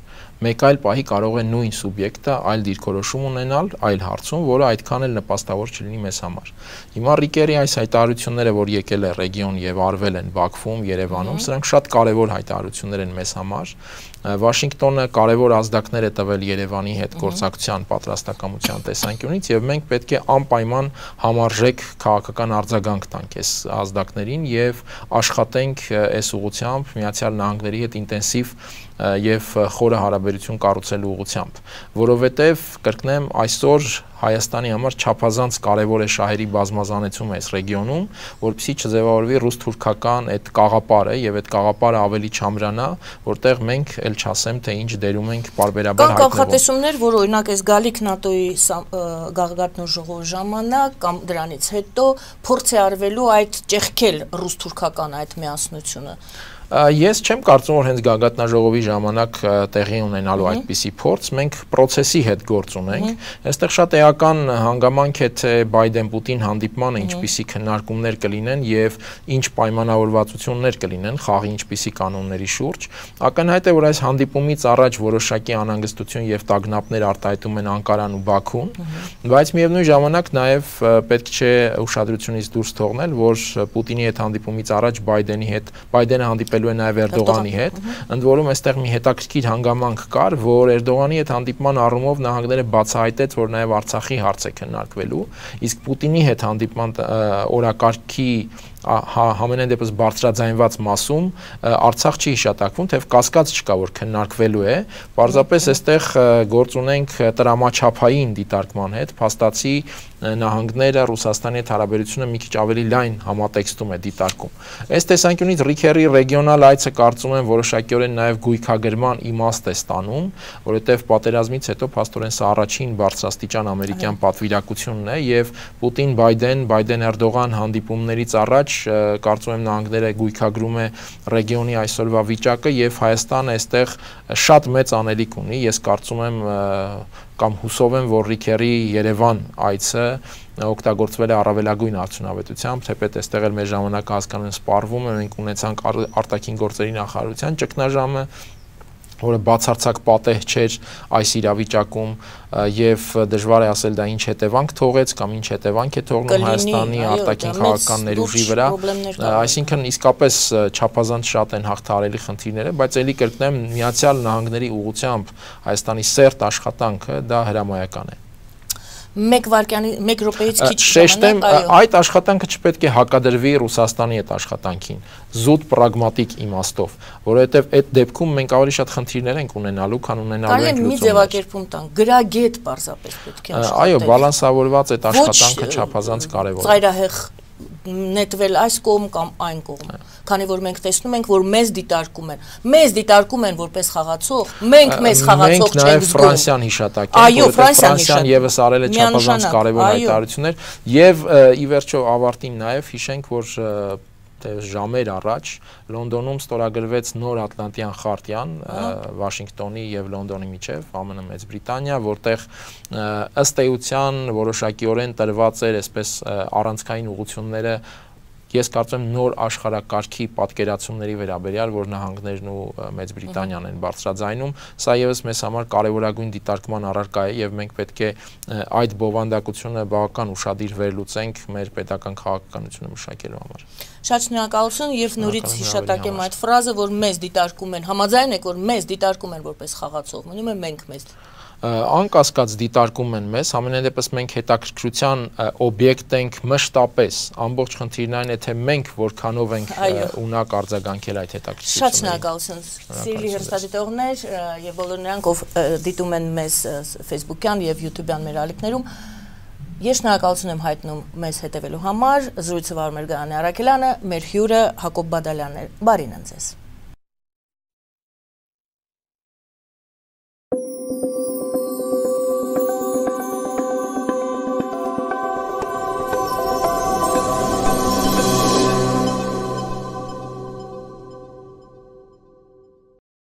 Speaker 3: մեկ այլ պահի կարող է նույն սուբյեկտը այլ դիրքորոշում ունենալ այլ հարցում, որը այդքան էլ նպաստավոր չլինի մեզ համար։ Հիմա Ռիկերի այս հայտարարությունները, որ եկել է ռեգիոն եւ արվել են Բաքվում, Երևանում, սրանք շատ կարեւոր հայտարարություններ են մեզ համար։ Վաշինգտոնը կարևոր ազդակներ է տվել Երևանի հետ գործակցության պատրաստակամության տեսանկյունից եւ մենք պետք է անպայման համարժեք քաղաքական արձագանք տանք այս ազդակներին եւ աշխատենք այս ուղղությամբ Միացյալ Նահանգների հետ ինտենսիվ եւ խորը հարաբերություն կառուցելու ուղղությամբ, որովհետեւ կրկնեմ այսօր Հայաստանի համար չափազանց կարևոր է շահերի բազմազանեցումը այս ռեգիոնում, որպեսզի չձևավորվի ռուս-թուրքական այդ կաղապարը եւ այդ կաղապարը ավելի չամրանա, որտեղ մենք ել չասեմ թե ինչ դերում ենք պարբերաբար հայտնվում։
Speaker 2: Կան կանխատեսումներ, որ օրինակ այս գալիք ՆԱՏՕ-ի գաղտնու ժողովի ժամանակ կամ դրանից հետո փորձ է արվելու այդ ճեղքել ռուս-թուրքական այդ միասնությունը։
Speaker 3: Ես չեմ կարծում, որ հենց գագաթնաժողովի ժամանակ տեղի ունենալու այդպիսի փորձ, մենք process-ի հետ գործ ունենք։ Այստեղ շատ էական հանգամանք է թե Բայդեն-Պուտին հանդիպմանը ինչպիսի քննարկումներ կլինեն եւ ինչ պայմանավորվածություններ կլինեն խաղի ինչպիսի կանոնների շուրջ։ Ակնհայտ է, որ այս հանդիպումից առաջ որոշակի անհանգստություն եւ տագնապներ արտահայտում են Անկարան ու Բաքուն, բայց միևնույն ժամանակ նաեւ պետք չէ ուշադրությունից դուրս թողնել, որ Պուտինի հետ հանդիպումից առաջ Բայդենի հետ Բայդենը հանդիպել է նաև Էրդողանի հետ, ընդ որում այստեղ մի հետաքրքիր հանգամանք կար, որ Էրդողանի հետ հանդիպման առումով նահանգները բացահայտեց, որ նաև Արցախի հարց է քննարկվելու, իսկ Պուտինի հետ հանդիպման օրակարգի համենայն դեպս բարձրաձայնված մասում Արցախ չի հիշատակվում, թեև կասկած չկա, որ քննարկվելու է, պարզապես այստեղ գործ ունենք տրամաչափային դիտարկման հետ, փաստացի նահանգները Ռուսաստանի հետ հարաբերությունը մի քիչ ավելի լայն համատեքստում է դիտարկում։ Այս տեսանկյունից Ռիկերի ռեգիոնալ այցը կարծում եմ որոշակիորեն նաև գույքագրման իմաստ է ստանում, որովհետև պատերազմից հետո փաստորեն սա առաջին բարձրաստիճան ամերիկյան պատվիրակությունն է եւ Պուտին-Բայդեն, Բայդեն-Էրդողան հանդիպումներից առաջ կարծում եմ նահանգները գույքագրում է ռեգիոնի այսօրվա վիճակը եւ Հայաստանը այստեղ շատ մեծ անելիք ունի։ Ես կարծում եմ կամ հուսով եմ, որ Ռիկերի Երևան այցը օգտագործվել է առավելագույն արդյունավետությամբ, թեպետ այստեղ էլ մեր ժամանակը հասկանալի սպառվում է, մենք ունեցանք արտաքին գործերի նախարարության ճգնաժամը, որը բացարձակ պատեհ չէր այս իրավիճակում եւ դժվար է ասել դա ինչ հետևանք թողեց կամ ինչ հետևանք է թողնում Հայաստանի արտաքին քաղաքական ներուժի վրա, այսինքն իսկապես չափազանց շատ են հաղթահարելի խնդիրները, բայց ելի կրկնեմ Միացյալ Նահանգների ուղղությամբ Հայաստանի սերտ աշխատանքը դա հրամայական է։
Speaker 2: Մեկ վայրկյանի, մեկ րոպեից քիչ
Speaker 3: շեշտեմ, այդ աշխատանքը չպետք է հակադրվի Ռուսաստանի այդ աշխատանքին, զուտ պրագմատիկ իմաստով, որովհետև այդ դեպքում մենք ավելի շատ խնդիրներ ենք ունենալու, քան ունենալու ենք
Speaker 2: լուծումներ։ Կարելի է մի ձևակերպում տանք, գրագետ պարզապես պետք է աշխատել։
Speaker 3: Այո, բալանսավորված այդ աշխատանքը չափազանց կարևոր է։
Speaker 2: Ծայրահեղ նետվել այս կողմ կամ այն կողմ, քանի որ մենք տեսնում ենք, որ մեզ դիտարկում են, մեզ դիտարկում են որպես խաղացող, մենք մեզ խաղացող չենք զգում։ Մենք
Speaker 3: նաև Ֆրանսիան հիշատակենք, որովհետև Ֆրանսիան եւս արել է չափազանց կարևոր հայտարարություններ, եւ ի վերջո ավարտին նաև հիշենք, որ ժամեր առաջ Լոնդոնում ստորագրվեց նոր Ատլանտյան խարտիան Վաշինգտոնի եւ Լոնդոնի միջև, ԱՄՆ Մեծ Բրիտանիա, որտեղ ըստ էության որոշակիորեն տրված էր այսպես առանցքային ուղղությունները Ես կարծում եմ նոր աշխարհակարգի պատկերացումների վերաբերյալ, որ նահանգներն ու Մեծ Բրիտանիան են բարձրաձայնում, սա եւս մեզ համար կարևորագույն դիտարկման առարկա է եւ մենք պետք է այդ բովանդակությունը բավական ուշադիր վերլուծենք մեր պետական քաղաքականությունը մշակելու համար։
Speaker 2: Շատ շնորհակալություն եւ նորից հիշատակեմ այդ ֆրազը, որ մեզ դիտարկում են, համաձայն եք, որ մեզ դիտարկում են որպես խաղացող, մնում է մենք մեզ
Speaker 3: անկասկած դիտարկում են մեզ, ամենայնպես մենք հետաքրքրության օբյեկտ ենք մշտապես, ամբողջ խնդիրն այն է, թե մենք որքանով ենք ունակ արձագանքել այդ հետաքրքրություններին։
Speaker 2: Շատ շնորհակալություն, սիրելի հեռուստադիտողներ եւ բոլոր նրանք, ով դիտում են մեզ Facebook-յան եւ YouTube-յան մեր ալիքներում, ես շնորհակալություն եմ հայտնում մեզ հետևելու համար, զրույցը վարում էր Գայանե Արաքելյանը, մեր հյուրը Հակոբ Բադալյանն էր, բարին ընձեզ։